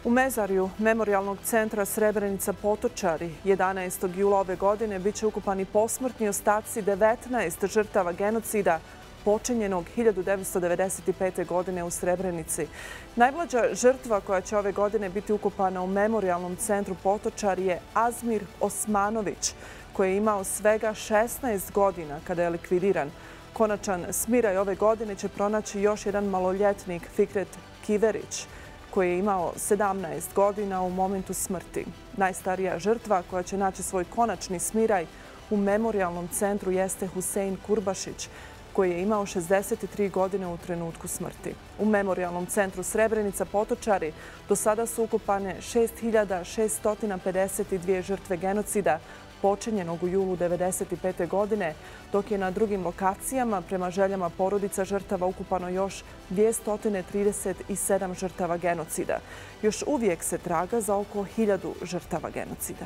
U mezarju Memorijalnog centra Srebrenica Potočari 11. jula ove godine bit će ukopani posmrtni ostaci 19 žrtava genocida počinjenog 1995. godine u Srebrenici. Najmlađa žrtva koja će ove godine biti ukopana u Memorijalnom centru Potočari je Azmir Osmanović, koji je imao svega 16 godina kada je likvidiran. Konačan smiraj ove godine će pronaći još jedan maloljetnik, Fikret Kiverić, koji je imao 17 godina u momentu smrti. Najstarija žrtva koja će naći svoj konačni smiraj u Memorijalnom centru jeste Husein Kurbašić, koji je imao 63 godine u trenutku smrti. U Memorijalnom centru Srebrenica Potočari do sada su ukopane 6.652 žrtve genocida počinjenog u julu 1995. godine, dok je na drugim lokacijama prema željama porodica žrtava ukupano još 237 žrtava genocida. Još uvijek se traga za oko 1000 žrtava genocida.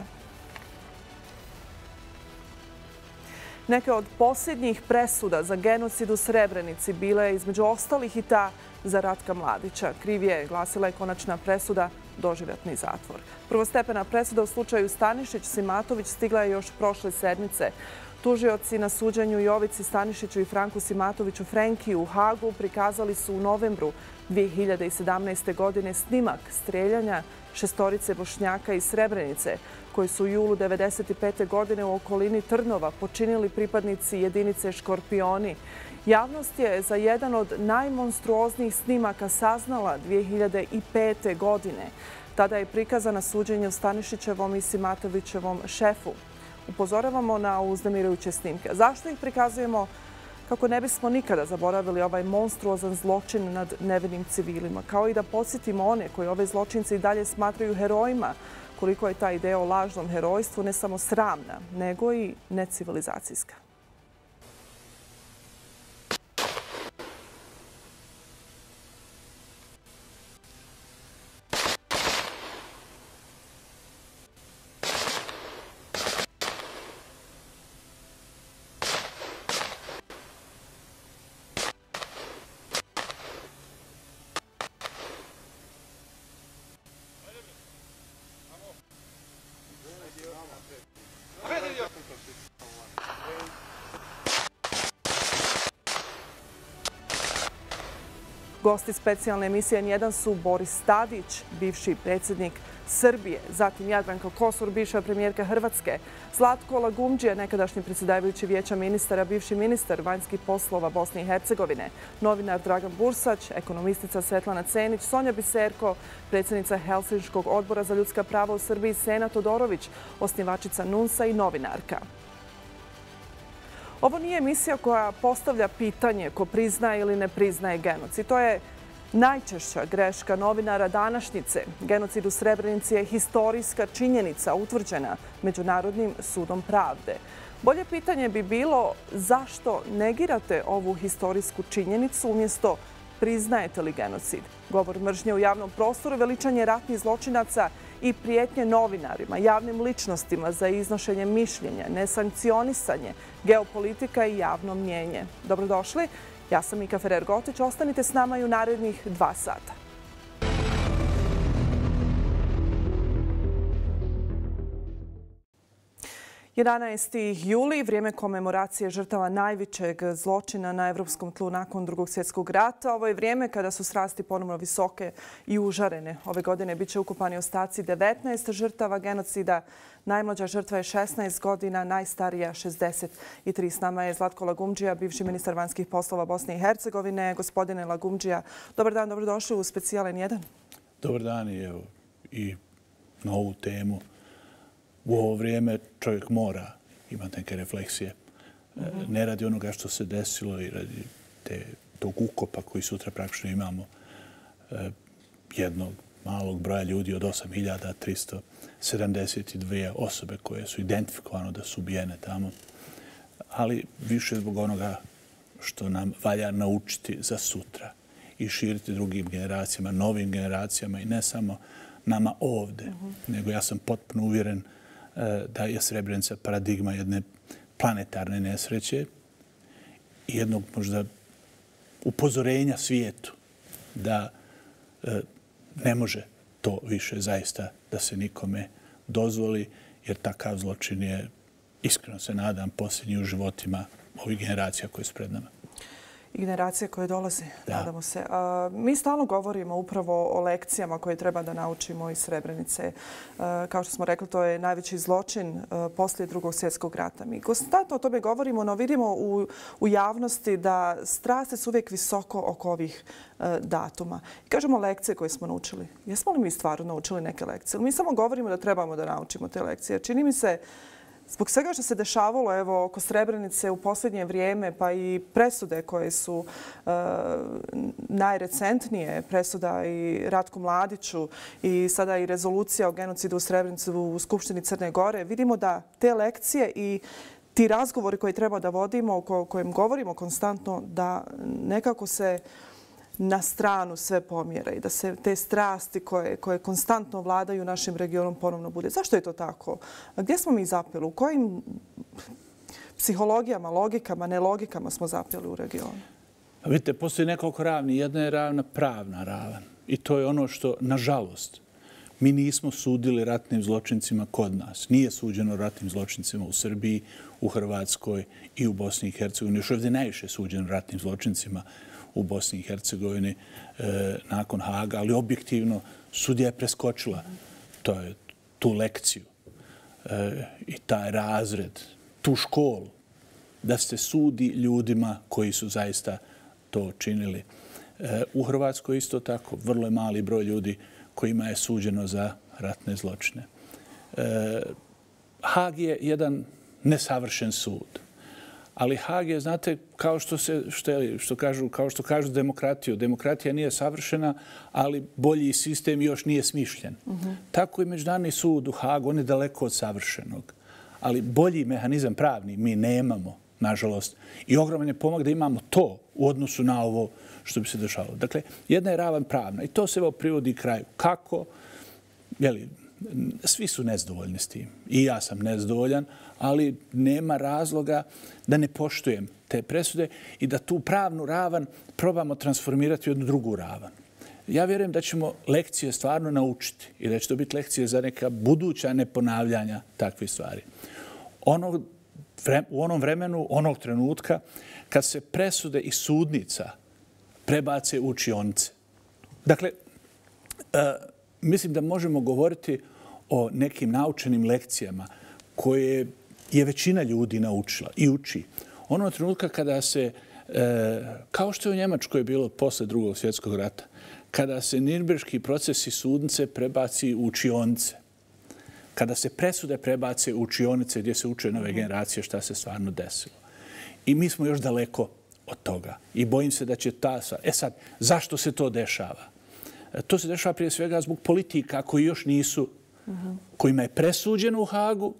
Neke od posljednjih presuda za genocid u Srebrenici bile je između ostalih i ta za Ratka Mladića. Kriv je, glasila je konačna presuda, doživotni zatvor. Prvostepena presuda u slučaju Stanišić-Simatović stigla je još prošle sedmice. Tužioci na suđenju Jovici Stanišiću i Franku Simatoviću Frenkiju u Hagu prikazali su u novembru 2017. godine snimak streljanja šestorice Bošnjaka iz Srebrenice, koji su u julu 1995. godine u okolini Trnova počinili pripadnici jedinice Škorpioni. Javnost je za jedan od najmonstruoznijih snimaka saznala 2005. godine. Tada je prikazana suđenje Stanišićevom i Simatovićevom šefu. Upozoravamo na uznemirujuće snimke. Zašto ih prikazujemo? Kako ne bismo nikada zaboravili ovaj monstruozan zločin nad nevinim civilima, kao i da podsjetimo one koji ove zločince i dalje smatraju herojima, koliko je ta ideja o lažnom herojstvu ne samo sramna, nego i necivilizacijska. Gosti specijalne emisije N1 su Boris Tadić, bivši predsjednik Srbije, zatim Jadranka Kosor, bivša premijerka Hrvatske, Zlatko Lagumdžija, nekadašnji predsjedavajući Vijeća ministara, bivši ministar vanjskih poslova Bosne i Hercegovine, novinar Dragan Bursać, ekonomistica Svetlana Cenić, Sonja Biserko, predsjednica Helsinškog odbora za ljudska prava u Srbiji, Sena Todorović, osnivačica NUNS-a i novinarka. Ovo nije emisija koja postavlja pitanje ko priznaje ili ne priznaje genocid. To je najčešća greška novinara današnjice. Genocid u Srebrenici je historijska činjenica utvrđena Međunarodnim sudom pravde. Bolje pitanje bi bilo zašto negirate ovu historijsku činjenicu umjesto priznajete li genocid. Govor mržnje u javnom prostoru, veličanje ratnih zločinaca i prijetnje novinarima, javnim ličnostima za iznošenje mišljenja, nesankcionisanje, geopolitika i javno mnjenje. Dobrodošli, ja sam Mika Ferrer-Gotić, ostanite s nama i u narednih 2 sata. 11. juli, vrijeme komemoracije žrtava najvećeg zločina na evropskom tlu nakon Drugog svjetskog rata. Ovo je vrijeme kada su strasti ponovno visoke i užarene. Ove godine bit će ukopani ostaci 19 žrtava genocida. Najmlađa žrtva je 16 godina, najstarija 63. S nama je Zlatko Lagumdžija, bivši ministar vanjskih poslova Bosne i Hercegovine. Gospodine Lagumdžija, dobar dan, dobrodošli u Specijal N1. Dobar dan i na ovu temu. U ovo vrijeme čovjek mora imati neke refleksije. Ne radi onoga što se desilo i radi tog ukopa koji sutra praktično imamo jednog malog broja ljudi od 8.372 osobe koje su identifikovane da su ubijene tamo. Ali više zbog onoga što nam valja naučiti za sutra i širiti drugim generacijama, novim generacijama i ne samo nama ovdje, nego ja sam potpuno uvjeren da je Srebrenica paradigma jedne planetarne nesreće i jednog možda upozorenja svijetu da ne može to više zaista da se nikome dozvoli, jer takav zločin je, iskreno se nadam, posljednji u životima ovih generacija koje su pred nama. I generacije koje dolaze, nadamo se. Mi stalno govorimo upravo o lekcijama koje treba da naučimo iz Srebrenice. Kao što smo rekli, to je najveći zločin poslije Drugog svjetskog rata. Mi konstantno o tome govorimo, no vidimo u javnosti da strasti su uvijek visoko oko ovih datuma. I kažemo lekcije koje smo naučili. Jesmo li mi stvarno naučili neke lekcije? Mi samo govorimo da trebamo da naučimo te lekcije. Čini mi se, zbog svega što se dešavalo oko Srebrenice u posljednje vrijeme, pa i presude koje su najrecentnije, presuda i Ratku Mladiću i sada i rezolucija o genocidu u Srebrenici u Skupštini Crne Gore, vidimo da te lekcije i ti razgovori koje treba da vodimo, o kojim govorimo konstantno, da nekako se na stranu sve pomjera i da se te strasti koje konstantno vladaju našim regionom ponovno bude. Zašto je to tako? Gdje smo mi zapeli? U kojim psihologijama, logikama, nelogikama smo zapeli u regionu? Vidite, postoji nekoliko ravni. Jedna je ravna pravna ravan. I to je ono što, nažalost, mi nismo sudili ratnim zločincima kod nas. Nije suđeno ratnim zločincima u Srbiji, u Hrvatskoj i u Bosni i Hercegovini. Još ovdje najviše suđeno ratnim zločincima u Bosni i Hercegovini nakon Haga, ali objektivno sudija je preskočila tu lekciju i taj razred, tu školu, da se sudi ljudima koji su zaista to činili. U Hrvatskoj isto tako, vrlo je mali broj ljudi kojima je suđeno za ratne zločine. Hag je jedan nesavršen sud. Ali Hag je, znate, kao što kažu demokratiju. Demokratija nije savršena, ali bolji sistem još nije smišljen. Tako i Međunarodni sud u Hagu, on je daleko od savršenog. Ali bolji mehanizam pravni mi nemamo, nažalost. I ogroman je pomak da imamo to u odnosu na ovo što bi se dešavalo. Dakle, jedna je ravan pravna i to se privodi kraju. Kako? Svi su nezadovoljni s tim. I ja sam nezadovoljan, ali nema razloga da ne poštujem te presude i da tu pravnu ravan probamo transformirati u jednu drugu ravan. Ja vjerujem da ćemo lekcije stvarno naučiti i da će to biti lekcije za neka buduća neponavljanja takvih stvari. U onom vremenu, onog trenutka, kad se presude iz sudnica prebace u učionice. Dakle, mislim da možemo govoriti o nekim naučenim lekcijama koje je većina ljudi naučila i uči. Onog trenutka kada se, kao što je u Njemačkoj bilo posle Drugog svjetskog rata, kada se nirnberški procesi sudnice prebaci u učionice, kada se presude prebace u učionice gdje se uče nove generacije šta se stvarno desilo. I mi smo još daleko od toga. I bojim se da će sad, zašto se to dešava? To se dešava prije svega zbog politika koji još nisu, kojima je presuđeno u Hagu,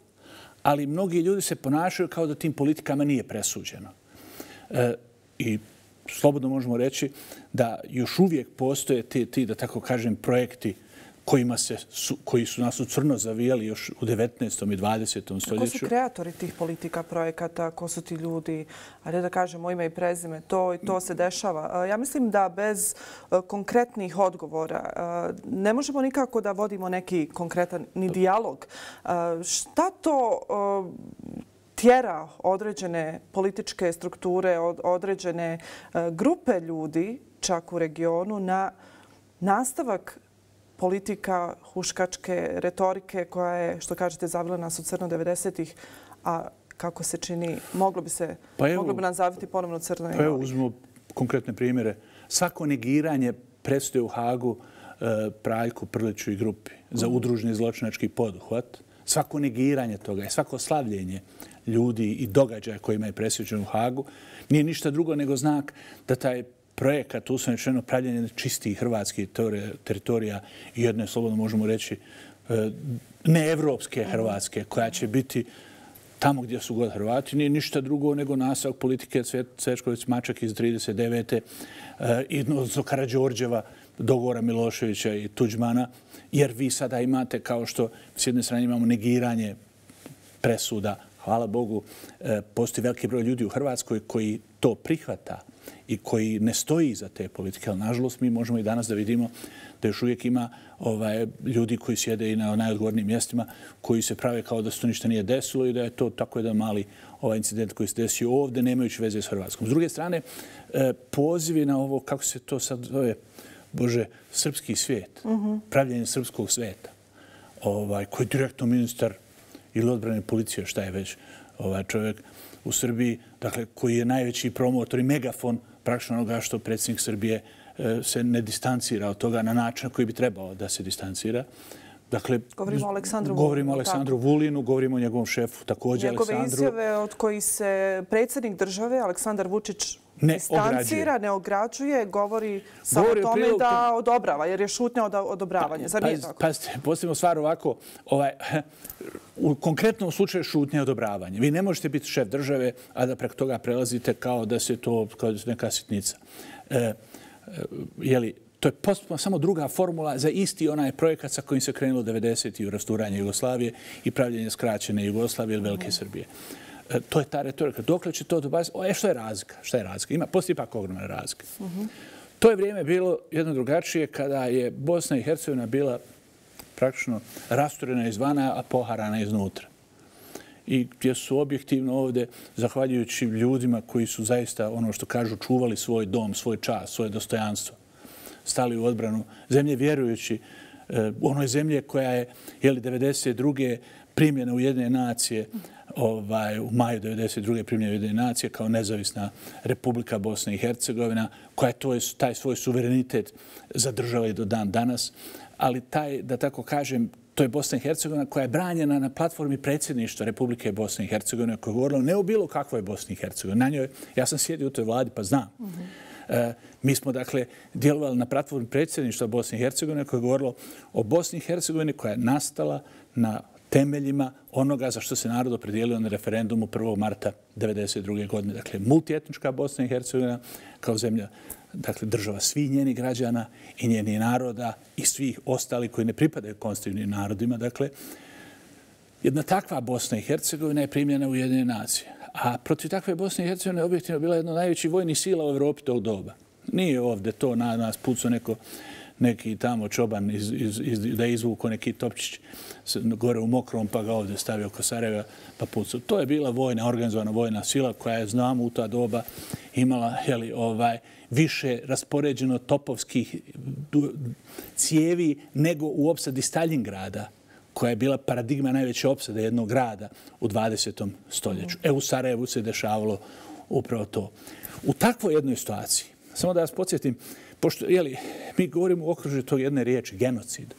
ali mnogi ljudi se ponašaju kao da tim politikama nije presuđeno. I slobodno možemo reći da još uvijek postoje ti, da tako kažem, projekti koji su nas u crno zavijali još u 19. i 20. stoljeću. Ko su kreatori tih politika, projekata? Ko su ti ljudi? Ajde da kažemo ime i prezime. To i to se dešava. Ja mislim da bez konkretnih odgovora ne možemo nikako da vodimo neki konkretan ni dijalog. Šta to tjera određene političke strukture, određene grupe ljudi, čak u regionu, na nastavak politika huškačke retorike koja je, što kažete, zavila nas u crno 90-ih, a kako se čini, moglo bi nam zaviti ponovno crno. Pa evo, uzmemo konkretne primjere. Svako negiranje presude u Hagu Praljku, Prliću i grupi za udruženi zločinački poduhvat, svako negiranje toga i svako slavljenje ljudi i događaja kojima je presuđen u Hagu nije ništa drugo nego znak da taj projekat, uslovno rečeno, pravljenje čistih hrvatskih teritorija i jedne, slobodno možemo reći, neevropske Hrvatske, koja će biti tamo gdje su god Hrvati, nije ništa drugo nego nastavak politike Cvečković-Mačak iz 1939. I odnosno Karađorđeva, dogovora Miloševića i Tuđmana, jer vi sada imate, kao što s jedne strane imamo negiranje presuda, hvala Bogu, postoji veliki broj ljudi u Hrvatskoj koji to prihvata. i koji ne stoji iza te politike. Ali, nažalost, mi možemo i danas da vidimo da još uvijek ima ljudi koji sjede i na najodgovornijim mjestima koji se prave kao da se to ništa nije desilo i da je to tako jedan mali incident koji se desio ovdje, nemajući veze s Hrvatskom. S druge strane, pozivi na ovo, kako se to sad zove, Bože, srpski svijet, pravljenje srpskog svijeta, koji je direktno ministar ili odbrane policije, šta je već čovjek u Srbiji, dakle, koji je najveći promotor i megafon praktično onoga što predsjednik Srbije se ne distancira od toga na način koji bi trebao da se distancira. Dakle, govorimo o Aleksandru Vulinu, govorimo o njegovom šefu također Aleksandru. Njegove izjave od kojih se predsjednik države Aleksandar Vučić distancira, ne ograđuje, govori samo o tome da odobrava, jer je šutnja odobravanje. Zar nije tako? Pazite, postavimo stvar ovako. U konkretnom slučaju šutnja odobravanje. Vi ne možete biti šef države, a da preko toga prelazite kao da se to kao neka sitnica. To je postupno samo druga formula za isti onaj projekat sa kojim se krenulo 90. u rasturanje Jugoslavije i pravljenje skraćene Jugoslavije ili Velike Srbije. To je ta retorika. Dokle će to dobaziti? Što je razlika? Šta je razlika? Postoji ipak ogromna razlika. To je vrijeme bilo jedno drugačije kada je Bosna i Hercegovina bila praktično rasturena izvana, a poharana iznutra. I gdje su objektivno ovdje, zahvaljujući ljudima koji su zaista, ono što kažu, čuvali svoj dom, svoj čast, svoje dostojanstvo, stali u odbranu zemlje, vjerujući onoj zemlje koja je 1992. primljena u Ujedinjene nacije, u maju 1992. primljena u Ujedinjene nacije kao nezavisna Republika Bosna i Hercegovina, koja je taj svoj suverenitet zadržala i do dan danas. Ali taj, da tako kažem, to je Bosna i Hercegovina koja je branjena na platformi predsjedništva Republike Bosne i Hercegovine, koja je govorila ne o bilo kakvoj Bosni i Hercegovini. Na njoj, ja sam sjedio u toj vladi pa znam. Mi smo, dakle, djelovali na platformi predsjedništva Bosne i Hercegovine koja je govorila o Bosni i Hercegovini koja je nastala na temeljima onoga za što se narod opredijelio na referendumu 1. marta 1992. godine. Dakle, multietnička Bosna i Hercegovina kao zemlja, dakle, država svih njenih građana i njenih naroda i svih ostalih koji ne pripadaju konstitutivnim narodima. Dakle, jedna takva Bosna i Hercegovina je primljena u Ujedinjene nacije. A protiv takve Bosne i Hercegovine objektivno bila jedna od najvećih vojnih sila u Evropi tog doba. Nije ovdje to na nas pucao neki tamo čoban da je izvuko neki topčić gore u Mokrom pa ga ovdje stavio oko Sarajeva pa pucao. To je bila organizovana vojna sila koja je, znamo, u ta doba imala više raspoređeno topovskih cijevi nego u opsadi Staljingrada, koja je bila paradigma najveće opsade jednog grada u 20. stoljeću. U Sarajevu se dešavalo upravo to. U takvoj jednoj situaciji, samo da vas podsjetim, pošto mi govorimo u okružju tog jedne riječi, genocid.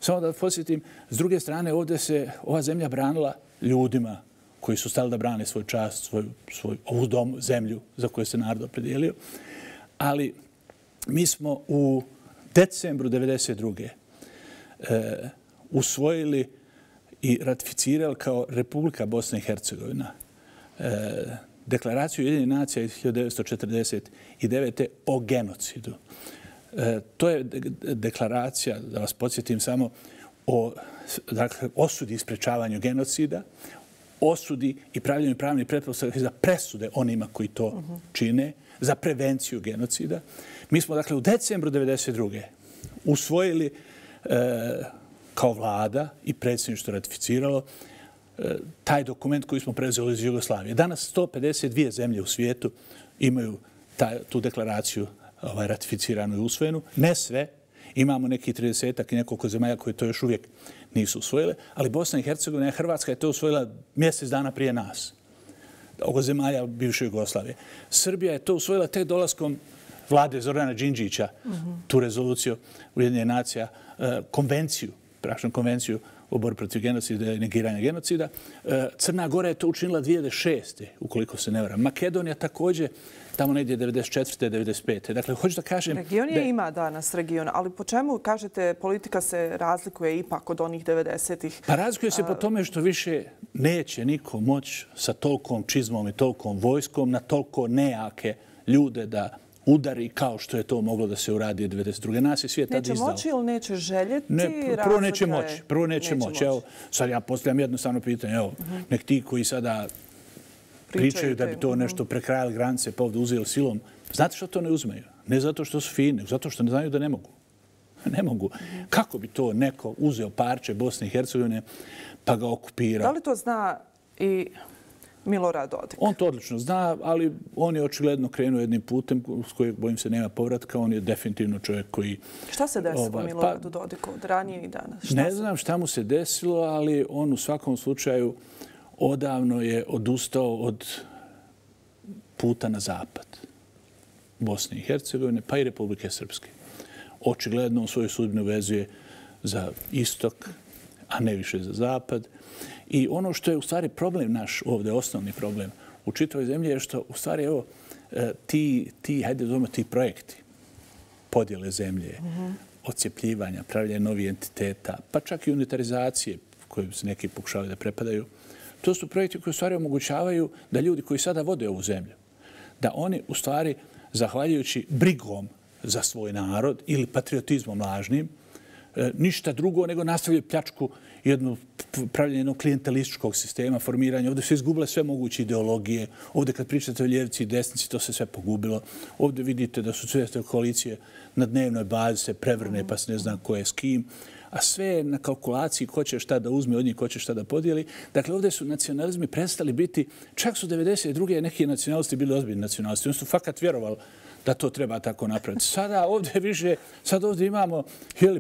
Samo da vas podsjetim, s druge strane, ovdje se ova zemlja branila ljudima koji su stali da brane svoj čast, ovu zemlju za koju se narod opredijelio. Ali mi smo u decembru 1992. Usvojili i ratificirali kao Republika Bosna i Hercegovina deklaraciju Ujedinjenih nacija iz 1949. o genocidu. To je deklaracija, da vas podsjetim samo, o osudi i sprečavanju genocida, osudi i pravljenju pravnih pretpostavki za presude onima koji to čine, za prevenciju genocida. Mi smo, dakle, u decembru 1992. usvojili kao vlada i predsjedništvo ratificiralo taj dokument koji smo preuzeli iz Jugoslavije. Danas 152 zemlje u svijetu imaju tu deklaraciju ratificiranu i usvojenu. Ne sve. Imamo neki 30-ak i nekoliko zemalja koje to još uvijek nisu usvojile, ali Bosna i Hercegovina i Hrvatska je to usvojila mjesec dana prije nas. Oko zemalja bivše Jugoslavije. Srbija je to usvojila tek dolaskom vlade Zorana Đinđića, tu rezoluciju Ujedinjenih nacija, konvenciju o borbi protiv genocida i negiranja genocida. Crna Gora je to učinila 2006. ukoliko se ne varam. Makedonija također tamo negdje 94. 95. Dakle, hoću da kažem... Region je ima danas region, ali po čemu, kažete, politika se razlikuje ipak od onih 90-ih? Pa razlikuje se po tome što više neće niko moći sa tolkom čizmom i tolkom vojskom na toliko nejake ljude da udari kao što je to moglo da se uradi 1992. Nas je svijet tad izdao. Neće moći ili neće željeti? Prvo neće moći. Evo, sad ja postavljam jednostavno pitanje. Evo, nek ti koji sada pričaju da bi to nešto prekrajali granice pa ovdje uzeli silom Znate što to ne uzmeju? Ne zato što su fini, nego zato što ne znaju da ne mogu. Ne mogu. Kako bi to neko uzeo parče Bosne i Hercegovine pa ga okupirao? Da li to zna i Milorad Dodik? On to odlično zna, ali on je očigledno krenuo jednim putem s kojeg, bojim se, nema povratka. On je definitivno čovjek koji... Šta se desilo Miloradu Dodiku od ranije i danas? Ne znam šta mu se desilo, ali on u svakom slučaju odavno je odustao od puta na zapad Bosne i Hercegovine, pa i Republike Srpske. Očigledno on svoju sudbinu vezuje za istok, a ne više za zapad. I ono što je u stvari problem naš ovdje, osnovni problem u čitavoj zemlji je što u stvari evo hajde zovemo ti projekti podjele zemlje, odcijepljivanja, pravljanja novih entiteta, pa čak i unitarizacije koje se neki pokušavaju da prepadaju. To su projekti koji u stvari omogućavaju da ljudi koji sada vode ovu zemlju, da oni u stvari, zahvaljujući brigom za svoj narod ili patriotizmom lažnim, ništa drugo nego nastavljaju pljačku pravljenje jednog klijentelističkog sistema, formiranja. Ovdje se izgubile sve moguće ideologije. Ovdje kad pričate o ljevici i desnici, to se sve pogubilo. Ovdje vidite da su sve koalicije na dnevnoj bazi se prevrne pa se ne zna ko je s kim. A sve je na kalkulaciji ko će šta da uzme od njih, ko će šta da podijeli. Dakle, ovdje su nacionalizmi prestali biti, čak su 92. neki nacionalisti bili ozbiljni nacionalisti. Oni su fakat vjerovali da to treba tako napraviti. Sada ovdje imamo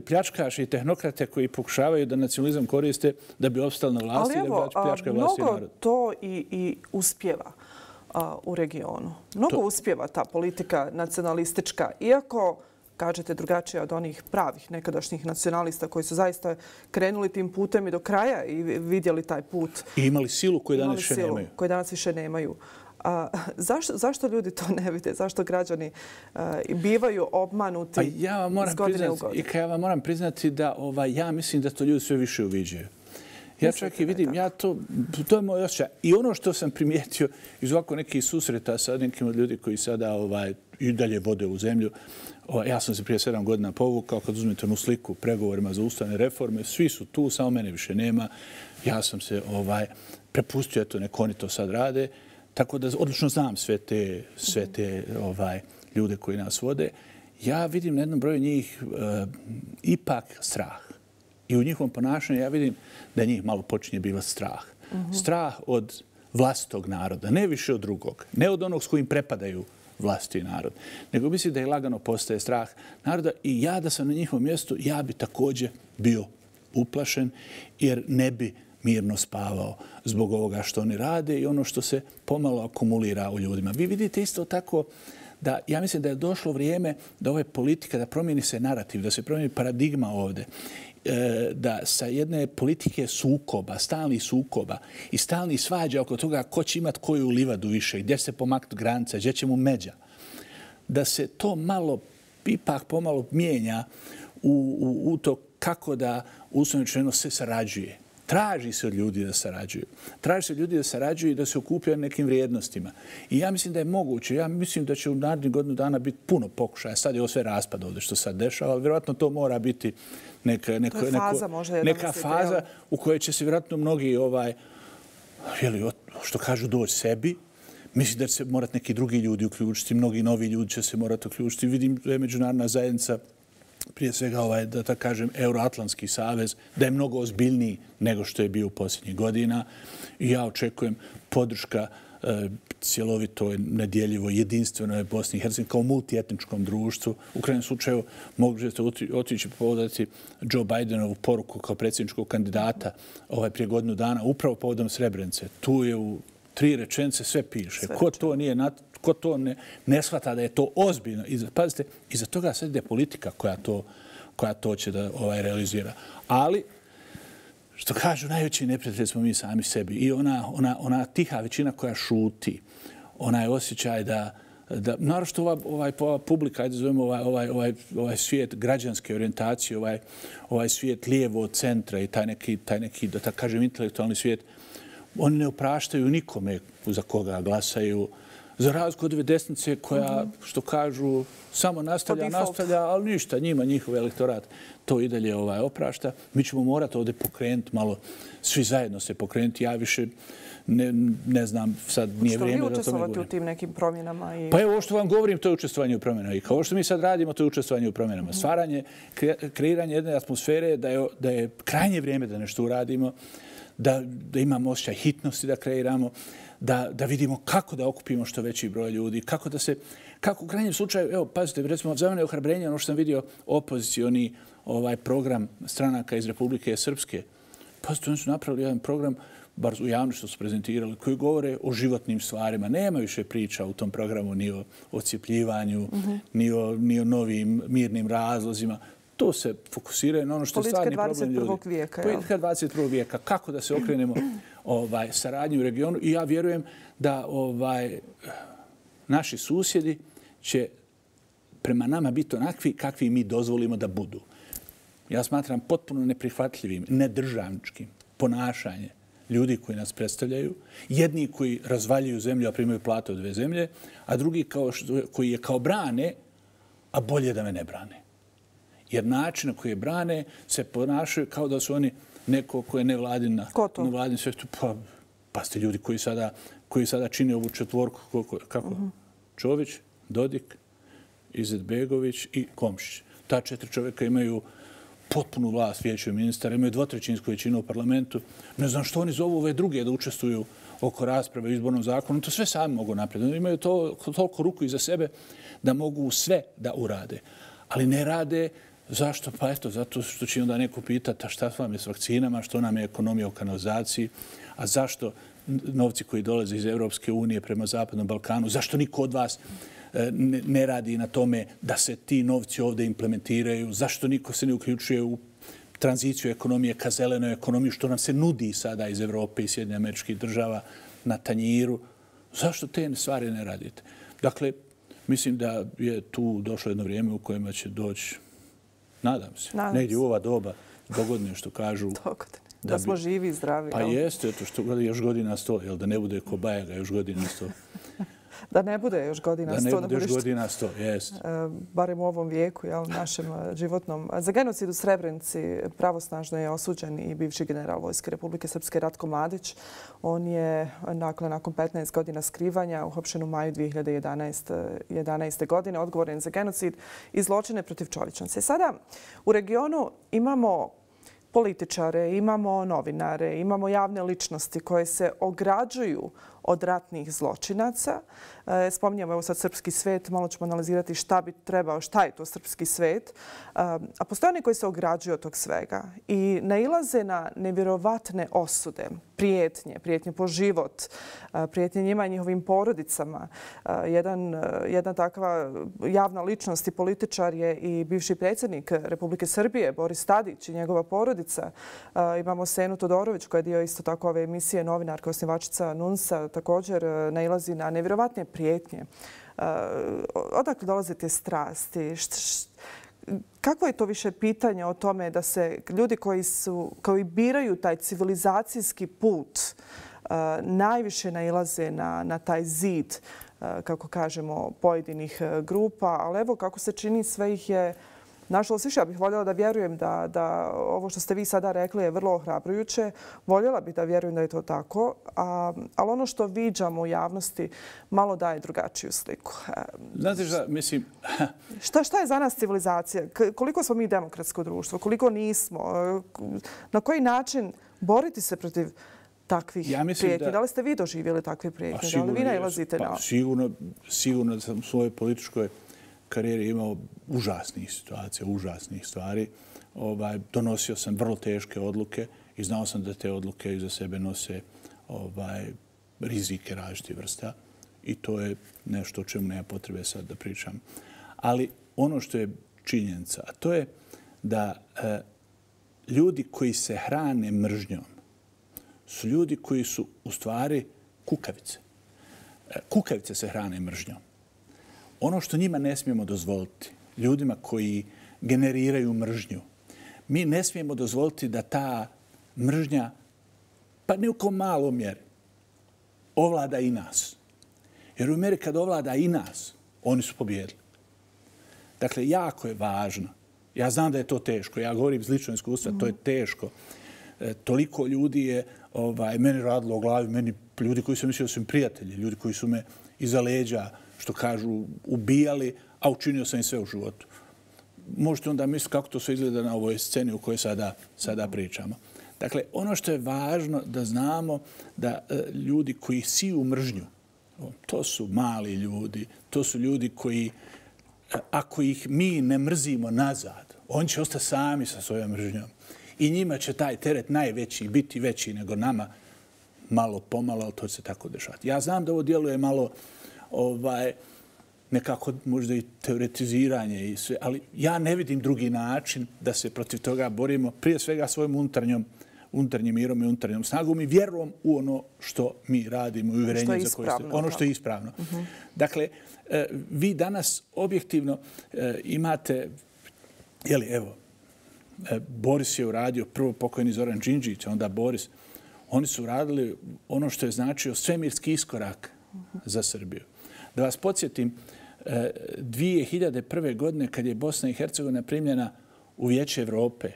pljačkaše i tehnokrate koji pokušavaju da nacionalizam koriste da bi opstali na vlasti. Ali evo, mnogo to i uspjeva u regionu. Mnogo uspjeva ta politika nacionalistička, iako kažete drugačije od onih pravih nekadašnjih nacionalista koji su zaista krenuli tim putem i do kraja i vidjeli taj put. I imali silu koju danas više nemaju. Zašto ljudi to ne vide? Zašto građani bivaju obmanuti iz godine u godinu? Ja vam moram priznati da ja mislim da to ljudi sve više uviđaju. Ja čak i vidim, to je moj osjećaj. I ono što sam primijetio iz ovako nekih susreta sa nekim od ljudi koji sada i dalje vode u zemlju, ja sam se prije 7 godina povukao, kad uzmete onu sliku pregovorima za ustavne reforme, svi su tu, samo mene više nema. Ja sam se prepustio, eto, nek oni to sad rade. Tako da odlično znam sve te ljude koji nas vode. Ja vidim na jednom broju njih ipak strah. I u njihovom ponašanju ja vidim da njih malo počinje bivati strah. Strah od vlastitog naroda, ne više od drugog. Ne od onog s kojim prepadaju vlastiti narod. Nego mislim da je lagano postaje strah naroda i ja da sam na njihovom mjestu, ja bi također bio uplašen jer ne bi mirno spavao zbog ovoga što oni rade i ono što se pomalo akumulira u ljudima. Vi vidite isto tako da ja mislim da je došlo vrijeme da ove politika, da promijeni se narativ, da se promijeni paradigma ovdje, da sa jedne politike sukoba, stalnih sukoba i stalnih svađa oko toga ko će imati koju livadu više, gdje se pomaknuti granica, gdje će mu međa, da se to malo, ipak pomalo mijenja u to kako da uslovno rečeno se sarađuje. Traži se od ljudi da sarađuju. Traži se od ljudi da sarađuju i da se okupljaju nekim vrijednostima. I ja mislim da je moguće. Ja mislim da će u narednih godinu dana biti puno pokušaja. Sad je ovo sve raspad ovdje što sad dešava, ali vjerojatno to mora biti neka faza u kojoj će se vjerojatno mnogi, što kažu, doći sebi. Mislim da će se morati neki drugi ljudi uključiti, mnogi novi ljudi će se morati uključiti. Vidim da je međunarodna zajednica, prije svega, da tako kažem, Euroatlantski savez, da je mnogo ozbiljniji nego što je bio u posljednjih godina. I ja očekujem podrška cjelovitoj, nedjeljivoj, jedinstvenoj Bosni i Hercegovini kao multietničkom društvu. U krajnjem slučaju možete otići povodati Joe Bidenovu poruku kao predsjedničkog kandidata prije godinu dana, upravo povodom Srebrenice. Tu je u 3 rečenice sve piše. Ko to ne shvata da je to ozbiljno. Pazite, iza toga sad ide politika koja to će da realizira. Ali, što kažu, najveći neprijatelji smo mi sami sebi. I ona tiha većina koja šuti, onaj osjećaj da naročito ova publika, ajde zovemo ovaj svijet građanske orijentacije, ovaj svijet lijevo od centra i taj neki, da tako kažem, intelektualni svijet, oni ne opraštaju nikome za koga glasaju, Za razliku od ove desnice koja, što kažu, samo nastavlja, ali ništa, njihov elektorat to i dalje oprašta. Mi ćemo morati ovdje pokrenuti malo, svi zajedno se pokrenuti. Ja više ne znam, sad nije vrijeme da o tome govorim. Što vi učestvovati u tim nekim promjenama? Pa evo, ovo što vam govorim, to je učestvovanje u promjenama. I kao što mi sad radimo, to je učestvovanje u promjenama. Stvaranje, kreiranje jedne atmosfere da je krajnje vrijeme da nešto uradimo, da imamo osjećaj hitnosti da kreiramo, da vidimo kako da okupimo što veći broj ljudi, kako u krajnjem slučaju, evo, pazite, recimo, za mene je ohrabrenje ono što sam vidio opozicioni program stranaka iz Republike Srpske. Pazite, oni su napravili jedan program, bar u javnosti što su prezentirali, koji govore o životnim stvarima. Nema više priča u tom programu ni o ocijepljivanju, ni o novim mirnim razlozima. To se fokusiraju na ono što je stvarni problem ljudi. Politika 21. vijeka. Kako da se okrenemo saradnji u regionu. I ja vjerujem da naši susjedi će prema nama biti onakvi kakvi mi dozvolimo da budu. Ja smatram potpuno neprihvatljivim, nedržavničkim ponašanje ljudi koji nas predstavljaju, jedni koji razvaljuju zemlju, a primaju plate od 2 zemlje, a drugi koji je kao brane, a bolje da me ne brane. Jer način na koji je brane se ponašaju kao da su oni neko ko je nevladin svijetu. Pa ste ljudi koji sada čine ovu četvorku. Kako? Čović, Dodik, Izetbegović i Komšić. Ta 4 čovjeka imaju potpunu vlast vijeća ministara, imaju 2/3 većinu u parlamentu. Ne znam što oni zovu ove druge da učestvuju oko rasprave o izbornom zakonu. To sve sami mogu naprijed. Imaju toliko ruku iza sebe da mogu sve da urade. Ali ne rade. Zašto? Pa eto, zato što će onda neko pitati šta vam je s vakcinama, što nam je ekonomija u kanalizaciji, a zašto novci koji dolaze iz Europske unije prema Zapadnom Balkanu, zašto niko od vas ne radi na tome da se ti novci ovdje implementiraju, zašto niko se ne uključuje u tranziciju ekonomije ka zelenoj ekonomiji, što nam se nudi sada iz Evrope i Sjedinjenih Američkih Država na tanjiru. Zašto te stvari ne radite? Dakle, mislim da je tu došlo jedno vrijeme u kojem će doći, nadam se, negdje u ova doba, dogodne što kažu. Da smo živi i zdravi. Pa jeste, što još godina 100, da ne bude ko Bajaga još godina 100. Da ne bude još godina 100. Da ne bude još godina 100, jest. Barem u ovom vijeku, našem životnom. Za genocid u Srebrenici pravosnažno je osuđen i bivši general Vojske Republike Srpske Ratko Mladić. On je nakon 15 godina skrivanja uhapšen u maju 2011. godine, odgovoren za genocid i zločine protiv čovječnosti. Sada u regionu imamo političare, imamo novinare, imamo javne ličnosti koje se ograđuju od ratnih zločinaca. Spominjamo evo sad srpski svet, malo ćemo analizirati šta bi trebao, šta je to srpski svet. A postoje oni koji se ograđuju od tog svega i nailaze na nevjerovatne osude, prijetnje po život, prijetnje njima i njihovim porodicama. Jedna takva javna ličnost i političar je i bivši predsjednik Republike Srbije, Boris Tadić i njegova porodica. Imamo Senu Todorović koja je dio isto tako ove emisije, novinarka, osnivačica NUNS-a, također nailazi na nevjerovatne prijetnje. Odakle dolaze te strasti? Kakvo je to više pitanje o tome da se ljudi koji biraju taj civilizacijski put najviše nailaze na taj zid, kako kažemo, pojedinih grupa, ali evo kako se čini sve ih je nažalost više. Ja bih voljela da vjerujem da ovo što ste vi sada rekli je vrlo ohrabrujuće. Voljela bih da vjerujem da je to tako, ali ono što viđamo u javnosti malo daje drugačiju sliku. Znate šta, mislim... Šta je za nas civilizacija? Koliko smo mi demokratsko društvo? Koliko nismo? Na koji način boriti se protiv takvih prijetnji? Da li ste vi doživjeli takve prijetnje? Da li vi nailazite na... Sigurno da sam u svojoj političkoj karijeri imao užasnih situacija, užasnih stvari. Donosio sam vrlo teške odluke i znao sam da te odluke iza sebe nose rizike različitih vrsta. I to je nešto o čemu nema potrebe sad da pričam. Ali ono što je činjenica, a to je da ljudi koji se hrane mržnjom su ljudi koji su u stvari kukavice. Kukavice se hrane mržnjom. Ono što njima ne smijemo dozvoliti, ljudima koji generiraju mržnju, mi ne smijemo dozvoliti da ta mržnja, pa ne u kao malom mjeri, ovlada i nas. Jer u meri kad ovlada i nas, oni su pobijedili. Dakle, jako je važno. Ja znam da je to teško. Ja govorim iz ličnog iskustva, to je teško. Toliko ljudi je meni radilo o glavi, meni ljudi koji su mislili da su mi prijatelji, ljudi koji su me iza leđa, što kažu, ubijali, a učinio sam im sve u životu. Možete onda misliti kako to sve izgleda na ovoj sceni u kojoj sada pričamo. Dakle, ono što je važno da znamo da ljudi koji siju mržnju, to su mali ljudi, to su ljudi koji, ako ih mi ne mrzimo nazad, oni će ostati sami sa svojom mržnjom. I njima će taj teret najveći biti veći nego nama, malo pomalo, ali to će se tako dešavati. Ja znam da ovo djeluje malo nekako možda i teoretiziranje i sve, ali ja ne vidim drugi način da se protiv toga borimo, prije svega svojom unutarnjim mirom i unutarnjom snagom i vjerom u ono što mi radimo i uvjerenje za koje ste. Ono što je ispravno. Dakle, vi danas objektivno imate, evo, Boris je uradio, prvo pokojni Zoran Đinđić, onda Boris. Oni su uradili ono što je značio svemirski iskorak za Srbiju. Da vas podsjetim, 2001. godine kad je Bosna i Hercegovina primljena u Vijeće Evrope,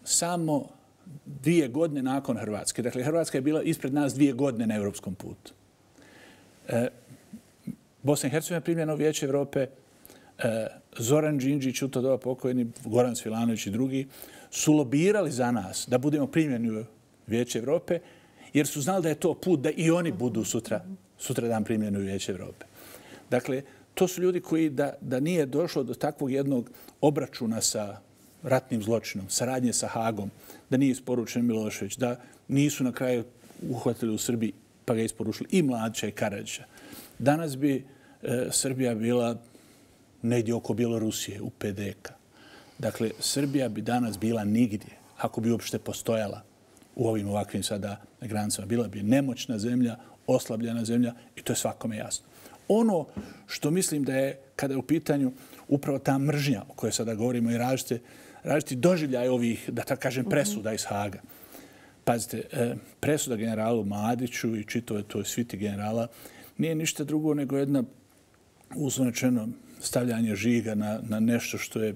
samo 2 godine nakon Hrvatske. Dakle, Hrvatska je bila ispred nas 2 godine na evropskom putu. Bosna i Hercegovina je primljena u Vijeće Evrope, Zoran Đinđić, u to doba pokojni, Goran Svilanović i drugi, su lobirali za nas da budemo primljeni u Vijeće Evrope, jer su znali da je to put da i oni budu sutradan primljeni u Vijeće Evrope. Dakle, to su ljudi koji da nije došlo do takvog jednog obračuna sa ratnim zločinom, saradnje sa Hagom, da nije isporučen Milošević, da nisu na kraju uhvatili u Srbiji pa ga isporučili i Mladića i Karadžića. Danas bi Srbija bila negdje oko Bjelorusije, u PDK. Dakle, Srbija bi danas bila nigdje, ako bi uopšte postojala u ovim ovakvim sada granicama. Bila bi nemoćna zemlja, oslabljena zemlja i to je svakome jasno. Ono što mislim da je, kada je u pitanju upravo ta mržnja o kojoj sada govorimo i različiti doživljaj ovih, da tako kažem, presuda iz Haga. Pazite, presuda generalu Mladiću i čitove toj sviti generala nije ništa drugo nego jedna, uslovno rečeno, stavljanje žiga na nešto što je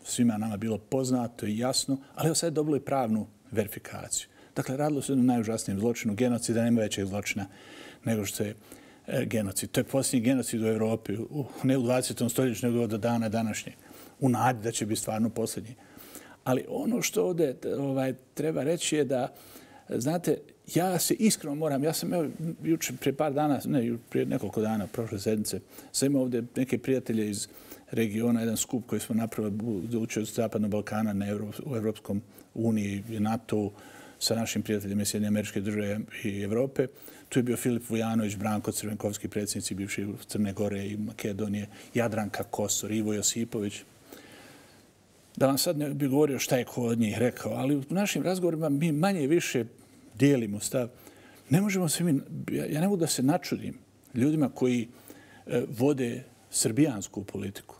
svima nama bilo poznato i jasno, ali evo sad je dobilo i pravnu verifikaciju. Dakle, radilo se o najužasnijem zločinu, genocida, nema većeg zločina nego što je genocid. To je posljednji genocid u Evropi, ne u 20. stoljeću, nego do dana današnjeg. U nadi da će biti stvarno posljednji. Ali ono što ovdje treba reći je da, znate, ja se iskreno moram, ja sam jučer prije par dana, ne, prije nekoliko dana, prošle sedmice, sam imao ovdje neke prijatelje iz regiona, jedan skup koji smo napravili za učenje Zapadnog Balkana u Evropskom uniji i NATO sa našim prijateljima iz Sjedinjenih Američke Države i Evrope. Tu je bio Filip Vujanović, Branko Crvenkovski, predsjednici bivši Crne Gore i Makedonije, Jadranka Kosor, Ivo Josipović. Da vam sad ne bih govorio šta je ko od njih rekao, ali u našim razgovorima mi manje i više dijelimo stav. Ne možemo se ja ne mogu da se načudim ljudima koji vode srbijansku politiku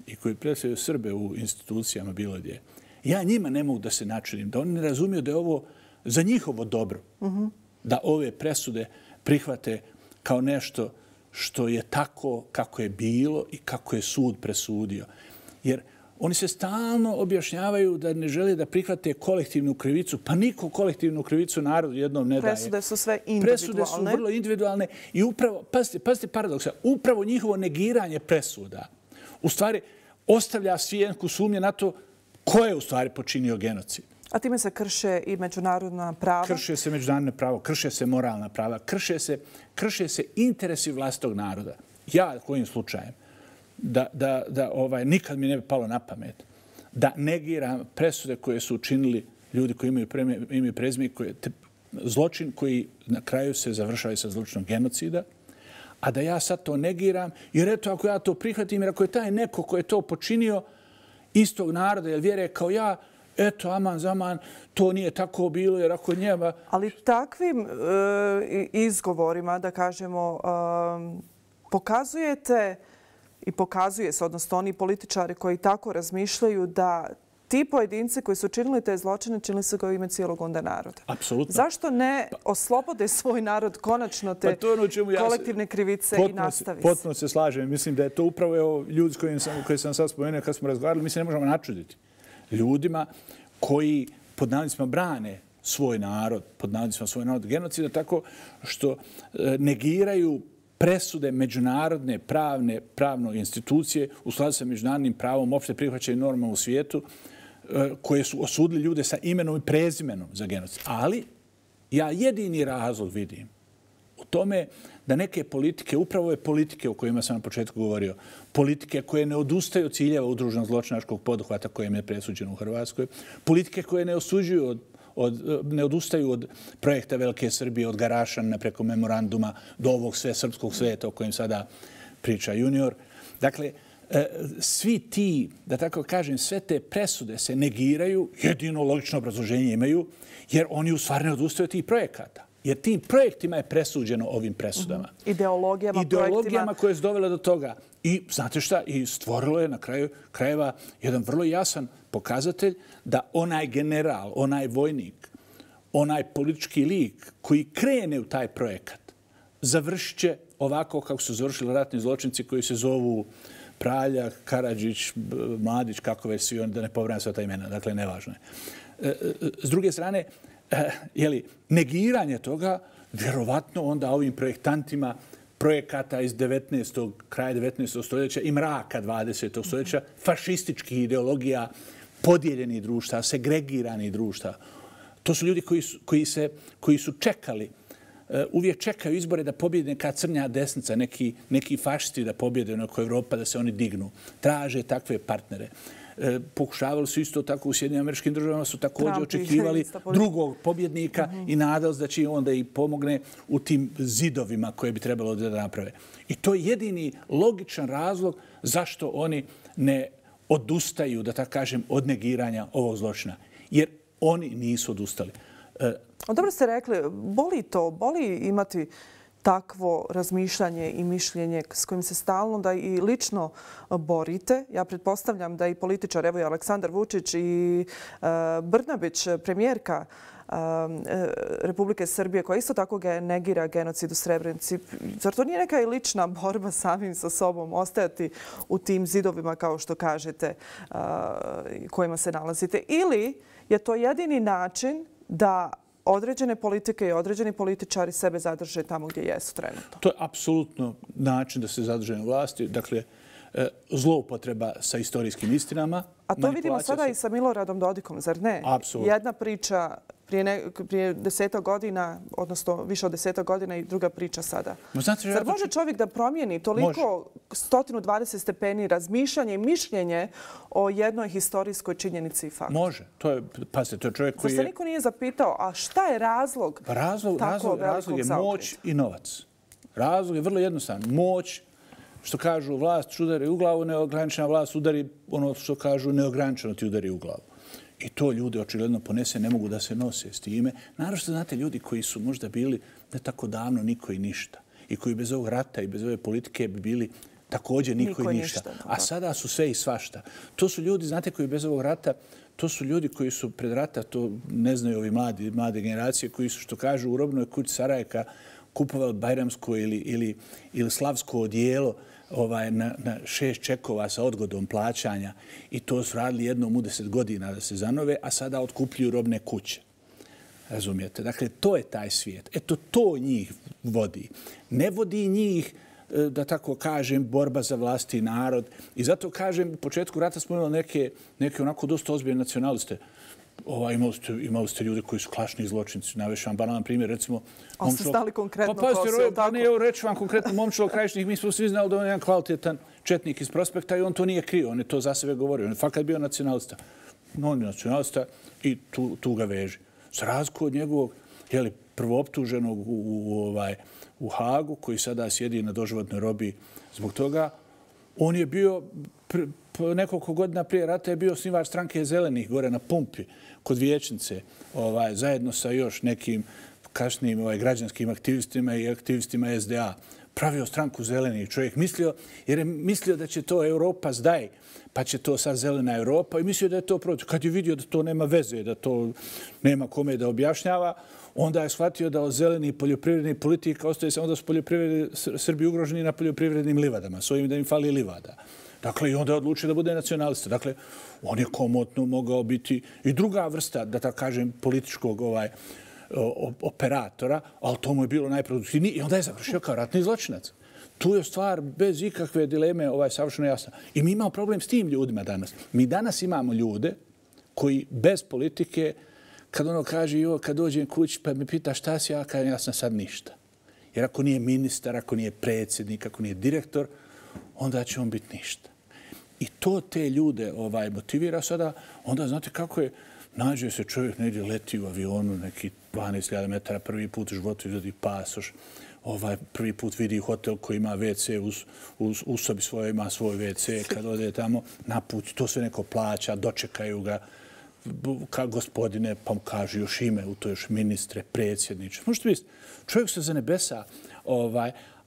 i koji predstavljaju Srbe u institucijama bilo gdje. Ja njima ne mogu da se načudim, da oni ne razumiju da je ovo za njihovo dobro, da ove presude prihvate kao nešto što je tako kako je bilo i kako je sud presudio. Jer oni se stalno objašnjavaju da ne žele da prihvate kolektivnu krivicu, pa niko kolektivnu krivicu narodu jednom ne daje. Presude su sve individualne. Presude su vrlo individualne i upravo, pazite paradoksa, upravo njihovo negiranje presuda u stvari ostavlja svijenku sumnje na to ko je u stvari počinio genocid. A time se krše i međunarodna prava? Krše se međunarodne pravo, krše se moralna prava, krše se interesi vlastitog naroda. Ja, kojim slučajem, da nikad mi ne bi palo na pamet da negiram presude koje su učinili ljudi koji imaju ime i prezime, zločin koji na kraju se završava sa zločinom genocida, a da ja sad to negiram, jer eto, ako ja to prihvatim, jer ako je taj neko ko je to počinio istog naroda ili vjere kao ja, eto, aman zaman, to nije tako bilo, jer ako njema... Ali takvim izgovorima, da kažemo, pokazujete i pokazuje se, odnosno oni političari koji tako razmišljaju da ti pojedinci koji su činili te zločine, činili su ga u ime cijelog onda naroda. Apsolutno. Zašto ne oslobode svoj narod konačno te kolektivne krivice i nastavi se? Potpuno se slažem. Mislim da je to upravo ljudi koji sam sad spomenuo kad smo razgovarali. Mi se ne možemo načuditi ljudima koji pod navodnicima brane svoj narod, genocida, tako što negiraju presude međunarodne pravne institucije u skladu sa međunarodnim pravom, opšte prihvaćenim normama u svijetu, koje su osudili ljude sa imenom i prezimenom za genocid. Ali ja jedini razlog vidim u tome da neke politike, upravo ove politike o kojima sam na početku govorio, politike koje ne odustaju od ciljeva udruženog zločinačkog poduhvata kojem je presuđeno u Hrvatskoj, politike koje ne odustaju od projekta Velike Srbije, od Garašana preko memoranduma do ovog srpskog sveta o kojem sada priča Junior. Dakle, svi ti, da tako kažem, sve te presude se negiraju, jedino logično obrazloženje imaju, jer oni u stvari ne odustaju od tih projekata. Jer tim projektima je presuđeno ovim presudama. Ideologijama koje su dovele do toga. I znate šta? I stvorilo je na kraju krajeva jedan vrlo jasan pokazatelj da onaj general, onaj vojnik, onaj politički lik koji krene u taj projekat završit će ovako kako su završili ratni zločinci koji se zovu Praljak, Karadžić, Mladić, kako već svi oni, da ne pobrajam sva ta imena. Dakle, nevažno je. S druge strane, negiranje toga vjerovatno onda ovim projektantima projekata iz kraja 19. stoljeća i mraka 20. stoljeća, fašističkih ideologija, podijeljenih društva, segregiranih društva. To su ljudi koji su čekali, uvijek čekaju izbore da pobjede neka crnja desnica, neki fašisti da pobjede oko Evropa, da se oni dignu. Traže takve partnere. Pokušavali su isto tako u Sjedinjenim Američkim Državama, su također očekivali drugog pobjednika i nadali se da će onda i pomogne u tim zidovima koje bi trebalo da naprave. I to je jedini logičan razlog zašto oni ne odustaju, da tako kažem, od negiranja ovog zločina. Jer oni nisu odustali. Dobro ste rekli, boli imati takvo razmišljanje i mišljenje s kojim se stalno da i lično borite. Ja pretpostavljam da i političar, evo i Aleksandar Vučić i Brnabić, premijerka Republike Srbije, koja isto tako negira genocid u Srebrenici. Zar to nije neka i lična borba samim sa sobom, ostajati u tim zidovima, kao što kažete, kojima se nalazite? Ili je to jedini način da određene politike i određeni političari sebe zadrže tamo gdje jesu trenutno? To je apsolutno način da se zadrže na vlasti. Dakle, zloupotreba sa istorijskim istinama. A to vidimo sada i sa Miloradom Dodikom, zar ne? Apsolutno. Jedna priča prije 10 godina, odnosno više od 10 godina i druga priča sada. Zar može čovjek da promijeni toliko 120 stepeni razmišljanje i mišljenje o jednoj historijskoj činjenici i faktu? Može. Pazite, to je čovjek koji je... Zar se niko nije zapitao, a šta je razlog tako velikog zaokreta? Razlog je moć i novac. Razlog je vrlo jednostavan. Moć, što kažu vlast udari u glavu, neograničena vlast udari, ono što kažu neograničeno ti udari u glavu. I to ljudi očigledno ponese, ne mogu da se nose s time. Naravno što znate ljudi koji su možda bili ne tako davno niko i ništa. I koji bez ovog rata i bez ove politike bi bili također niko i ništa. A sada su sve i svašta. To su ljudi, znate, koji bez ovog rata, to su ljudi koji su pred rata, to ne znaju ovi mlade generacije, koji su, što kažu, u robnoj kući Sarajeka kupovali bajramsko ili slavsko odijelo na 6 čekova sa odgodom plaćanja i to su radili jednom u 10 godina da se zanove, a sada otkupljuju robne kuće. Razumijete? Dakle, to je taj svijet. Eto, to njih vodi. Ne vodi njih, da tako kažem, borba za vlast i narod. I zato kažem, u početku rata smo imali neke onako dosta ozbiljne nacionaliste. Imali ste ljudi koji su klašni zločinci. Navešam vam banalan primjer, recimo... Ali ste stali konkretno ko se, tako? Ne, evo reći vam konkretno, Momčilo Krajišnik, mi smo svi znali da on je jedan kvalitetan četnik iz Prospekta i on to nije krio, on je to za sebe govorio. On je fakat bio nacionalista. On je nacionalista i tu ga veži. Za razliku od njegovog prvooptuženog u Hagu, koji sada sjedi na doživotnoj robiji zbog toga, on je bio... Nekoliko godina prije rata je bio osnivač stranke Zelenih gore na Pumpi kod Vijećnice, zajedno sa još nekim kasnijim građanskim aktivistima i aktivistima SDA. pravio stranku Zeleni čovjek, jer je mislio da će to Europa zdaj, pa će to sad zelena Europa i mislio da je to protiv. Kad je vidio da to nema veze, da to nema kome da objašnjava, onda je shvatio da od zelenih poljoprivrednih politika ostaje samo da su Srbi ugroženi na poljoprivrednim livadama, s ovim da im fali livada. Dakle, i onda je odlučio da bude nacionalista. Dakle, on je komotno mogao biti i druga vrsta, da tako kažem, političkog operatora, ali to mu je bilo najproduktivnije i onda je završio kao ratni zločinac. Tu je stvar bez ikakve dileme savršeno jasna. I mi imamo problem s tim ljudima danas. Mi danas imamo ljude koji bez politike, kad ono kaže, kad dođem kući pa me pita šta si, ja kažem, ja sam sad ništa. Jer ako nije ministar, ako nije predsjednik, ako nije direktor, onda će on biti ništa. I to te ljude motivira sada. Onda znate kako je, nađe se čovjek negdje, leti u avionu, neki 12.000 metara, prvi put u životu izvodi pasoš, prvi put vidi hotel koji ima WC, u sobi svoje ima svoj WC, kad ode tamo na put, to sve neko plaća, dočekaju ga, kao gospodine, pa mu kaže još ime, u to još ministre, predsjedniče. Možete misliti, čovjek se za nebesa,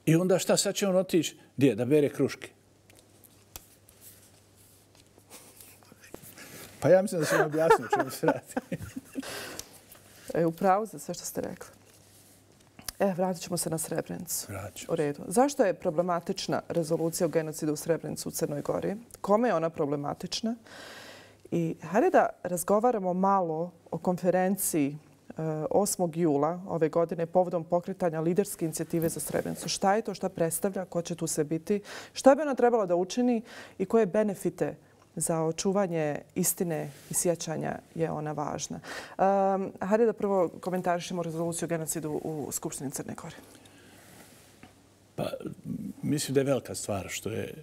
i onda šta, sad će on otići, gdje, da bere kruške? Pa ja mislim da sam objasnio čemu se radi. Upravo za sve što ste rekli. Vratit ćemo se na Srebrenicu. U redu. Zašto je problematična rezolucija o genocidu u Srebrenicu u Crnoj Gori? Kome je ona problematična? I hajde da razgovaramo malo o konferenciji 8. jula ove godine povodom pokretanja liderske inicijative za Srebrenicu. Šta je to, šta predstavlja, ko će tu sve biti, šta bi ona trebala da učini i koje benefite za očuvanje istine i sjećanja je ona važna. Hajde da prvo komentarišemo rezoluciju o genocidu u Skupštini Crne Gore. Pa, mislim da je velika stvar što je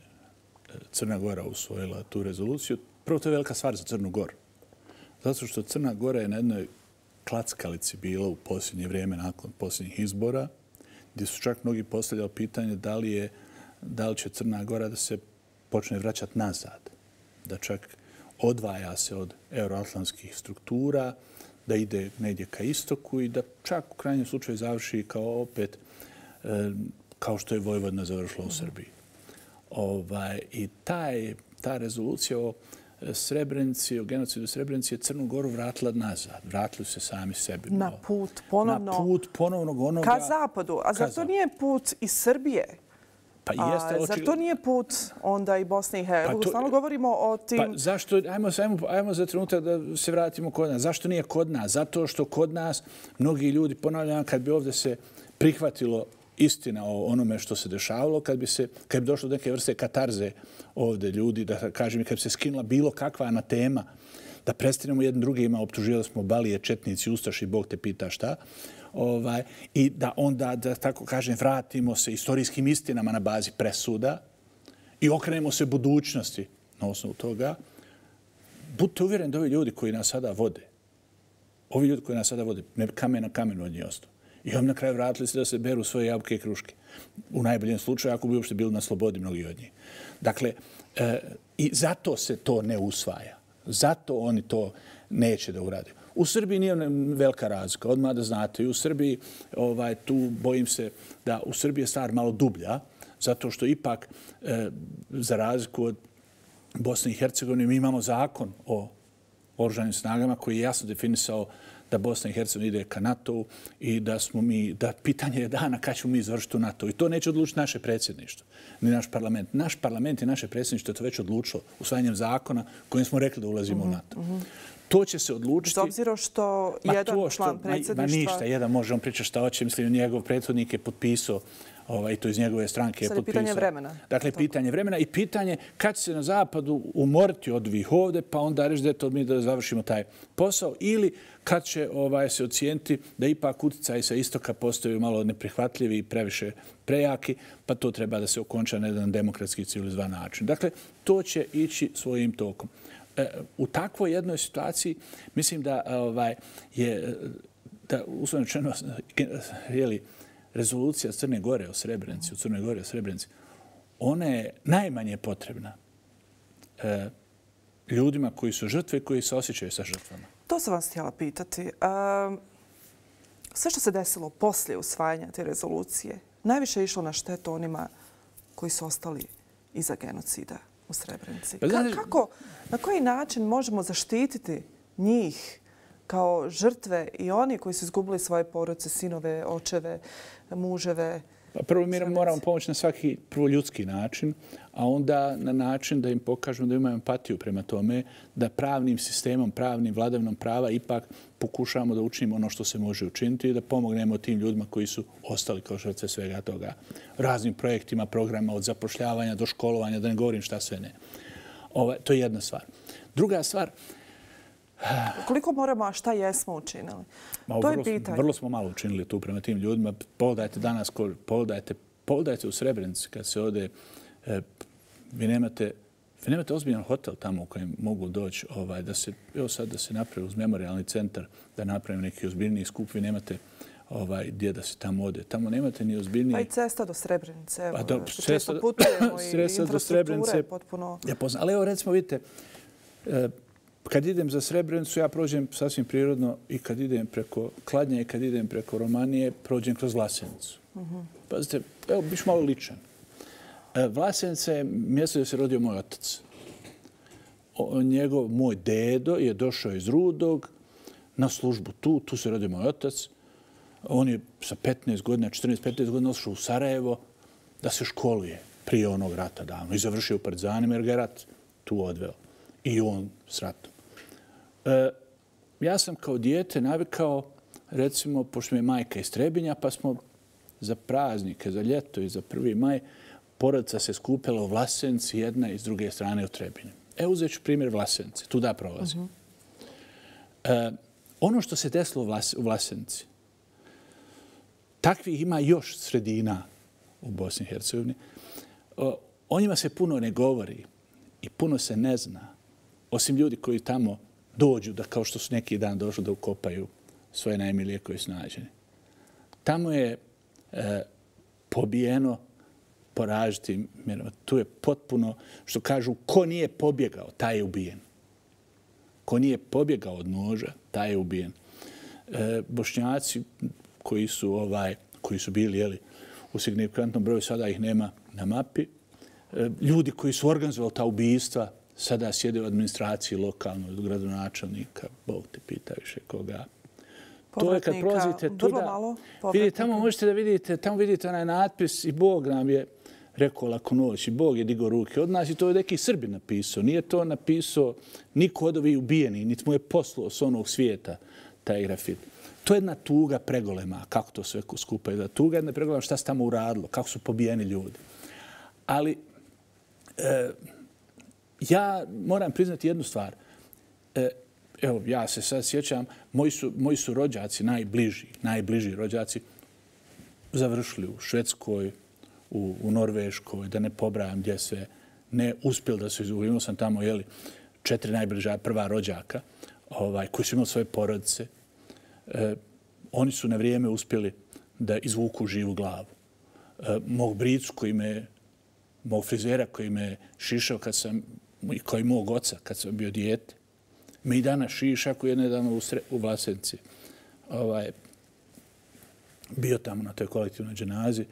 Crna Gora usvojila tu rezoluciju. Prvo, to je velika stvar za Crnu Goru. Zato što Crna Gora je na jednoj klackalici bila u posljednje vrijeme nakon posljednjih izbora, gdje su čak mnogi postavljali pitanje da li će Crna Gora da se počne vraćati nazad, da čak odvaja se od euroatlantskih struktura, da ide negdje ka istoku i da čak u krajnjem slučaju završi kao što je Vojvodina završila u Srbiji. I ta rezolucija o Srebrenici, o genocidu Srebrenici je Crnu Goru vratila nazad. Vratili se sami sebi. Na put ponovnog onoga... Ka zapadu. A zar to nije put iz Srbije? Zar to nije put onda i Bosne i Hercegovine? Stalno govorimo o tim... Pa zašto? Ajmo za trenutak da se vratimo kod nas. Zašto nije kod nas? Zato što kod nas mnogi ljudi, ponavljam, kad bi ovdje se prihvatilo istina o onome što se dešavalo, kad bi došlo do neke vrste katarze ovdje ljudi, da kažem, kad bi se skinula bilo kakva anatema, da prestanemo jednim drugima, optuživali smo Balije, četnici, ustaši, Bog te pita šta, i da onda, da tako kažem, vratimo se istorijskim istinama na bazi presuda i okrenemo se budućnosti na osnovu toga. Budite uvjereni da ovi ljudi koji nas sada vode, ne kamen na kamenu od njih ostao. I oni na kraju vratili se da se beru svoje jabuke i kruške. U najboljem slučaju, ako bi uopšte bili na slobodi mnogi od njih. Dakle, i zato se to ne usvaja. Zato oni to neće da urade. U Srbiji nije velika razlika. Odmah da znate, i u Srbiji, tu bojim se da u Srbiji je stvar malo dublja, zato što ipak, za razliku od Bosne i Hercegovine, mi imamo zakon o oružanim snagama koji je jasno definisao da Bosna i Hercegovina ide ka NATO-u i da pitanje je dana kad ćemo mi završiti u NATO. I to neće odlučiti naše predsjedništvo, ni naš parlament. Naš parlament i naše predsjedništvo je to već odlučilo usvajanjem zakona kojim smo rekli da ulazimo u NATO. To će se odlučiti... S obzirom što jedan član predsjedništva... Ništa, jedan može on pričati šta hoće. Mislim, njegov prethodnik je potpisao i to iz njegove stranke je potpisao. Sad je pitanje vremena. Dakle, pitanje vremena i pitanje kad će se na zapadu umoriti od ovih ovde, pa onda reći da je to mi da završimo taj posao, ili kad će se ocijeniti da ipak utjecaji sa istoka postaju malo neprihvatljivi i previše prejaki, pa to treba da se okonča na jedan demokratski civilizovan način. Dakle, to će ići svojim tokom. U takvoj jednoj situaciji mislim da je, uslovno rečeno, rezolucija Crne Gore o Srebrenici, u Crnoj Gori o Srebrenici, ona je najmanje potrebna ljudima koji su žrtve i koji se osjećaju sa žrtvama. To sam vas htjela pitati. Sve što se desilo poslije usvajanja te rezolucije, najviše išlo na štetu onima koji su ostali iza genocida u Srebrenici. Na koji način možemo zaštititi njih kao žrtve i oni koji su izgubili svoje porodice, sinove, očeve, muževe? Prvo mi moramo pomoći na svaki prvo ljudski način, a onda na način da im pokažemo da imamo empatiju prema tome, da pravnim sistemom, pravnim vladavinom prava ipak pokušamo da učinimo ono što se može učiniti i da pomognemo tim ljudima koji su ostali kao žrtve svega toga. Raznim projektima, programa od zapošljavanja do školovanja, da ne govorim šta sve ne. To je jedna stvar. Druga stvar, koliko moramo, a šta jesmo učinili? To je pitanje. Vrlo smo malo učinili tu prema tim ljudima. Pogledajte danas, pogledajte u Srebrenici kad se ode, vi nemate ozbiljan hotel tamo u kojem mogu doći, da se napravi uz memorialni centar, da napravim neki ozbiljniji skup, vi nemate gdje da se tamo ode. Tamo nemate ni ozbiljnije... Pa i cesta do Srebrenice. Često putujemo i infrastruktura je potpuno... Ali evo recimo, vidite, kad idem za Srebrenicu, ja prođem sasvim prirodno i kad idem preko Kladnja i kad idem preko Romanije, prođem kroz Vlasenicu. Pazite, evo, biš malo ličan. Vlasenica je mjesto gdje se rodio moj otac. Moj dedo je došao iz Rudog na službu tu se rodio moj otac. On je sa 15 godina, 14-15 godina otišao u Sarajevo da se školuje prije onog rata davno i završio u Partizanima jer ga je rat tu odveo. I on s ratom. Ja sam kao dijete navikao, recimo, pošto mi je majka iz Trebinja, pa smo za praznike, za ljeto i za 1. maj, porodica se skupila u Vlasenici, jedna i s druge strane u Trebinju. Evo uzet ću primjer Vlasenice, tu da prolazim. Ono što se desilo u Vlasenici, takvih ima još sredina u Bosni i Hercegovini, o njima se puno ne govori i puno se ne zna. Osim ljudi koji tamo dođu, da kao što su neki dan došli da ukopaju svoje najmilije koji su nađeni. Tamo je pobijeno po različitim mjerama. Tu je potpuno, što kažu, ko nije pobjegao, taj je ubijen. Ko nije pobjegao od noža, taj je ubijen. Bošnjaci koji su bili u signifikantnom broju, sada ih nema na mapi. Ljudi koji su organizovali ta ubijstva, sada sjede u administraciji lokalno, od gradonačelnika, Bog te pita više koga. To je kad prolazite tuda, vidite, tamo možete da vidite, tamo vidite onaj natpis i Bog nam je rekao laku noć i Bog je digao ruke od nas i to je neki Srbin napisao. Nije to napisao niko od ovih ubijeni, niti mu je poslao s onog svijeta taj grafit. To je jedna tuga pregolema, kako to sve skupa je. Tuga je jedna pregolema šta se tamo uradilo, kako su pobijeni ljudi. Ali ja moram priznati jednu stvar. Evo, ja se sad sjećam, moji su rođaci, najbliži rođaci, završili u Švedskoj, u Norveškoj, da ne pobrajam gdje sve, ne uspjeli da se izgubili. Imao sam tamo, 4 najbliža prva rođaka, koji su imali svoje porodice. Oni su na vrijeme uspjeli da izvuku živu glavu. Mog bricu mog frizera koji me šišao kao i mog oca kad sam bio dijete, me i danas šiša koji je nedavno u Vlasenici bio tamo na toj kolektivnoj dženazi.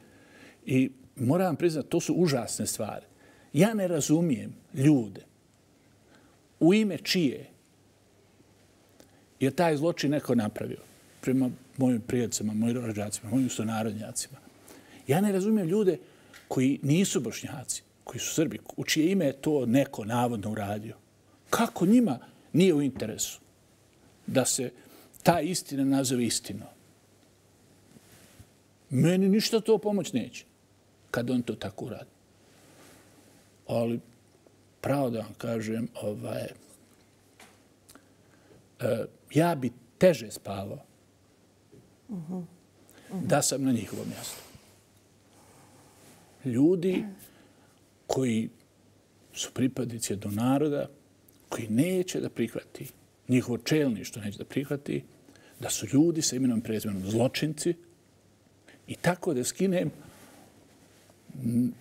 I moram priznati, to su užasne stvari. Ja ne razumijem ljude u ime čije je taj zločin neko napravio prema mojim prijateljima, mojim rođacima, mojim sunarodnjacima. Ja ne razumijem ljude koji nisu Bošnjaci, koji su Srbi, u čije ime je to neko navodno uradio. Kako njima nije u interesu da se ta istina nazove istinom? Meni ništa to pomoć neće kad on to tako uradi. Ali, pravo da vam kažem, ja bi teže spavao da sam na njihovom mjestu. Ljudi koji su pripadnici do naroda, koji neće da prihvati, njihovo čelništvo neće da prihvati, da su ljudi sa imenom i prezimenom zločinci i tako da skinem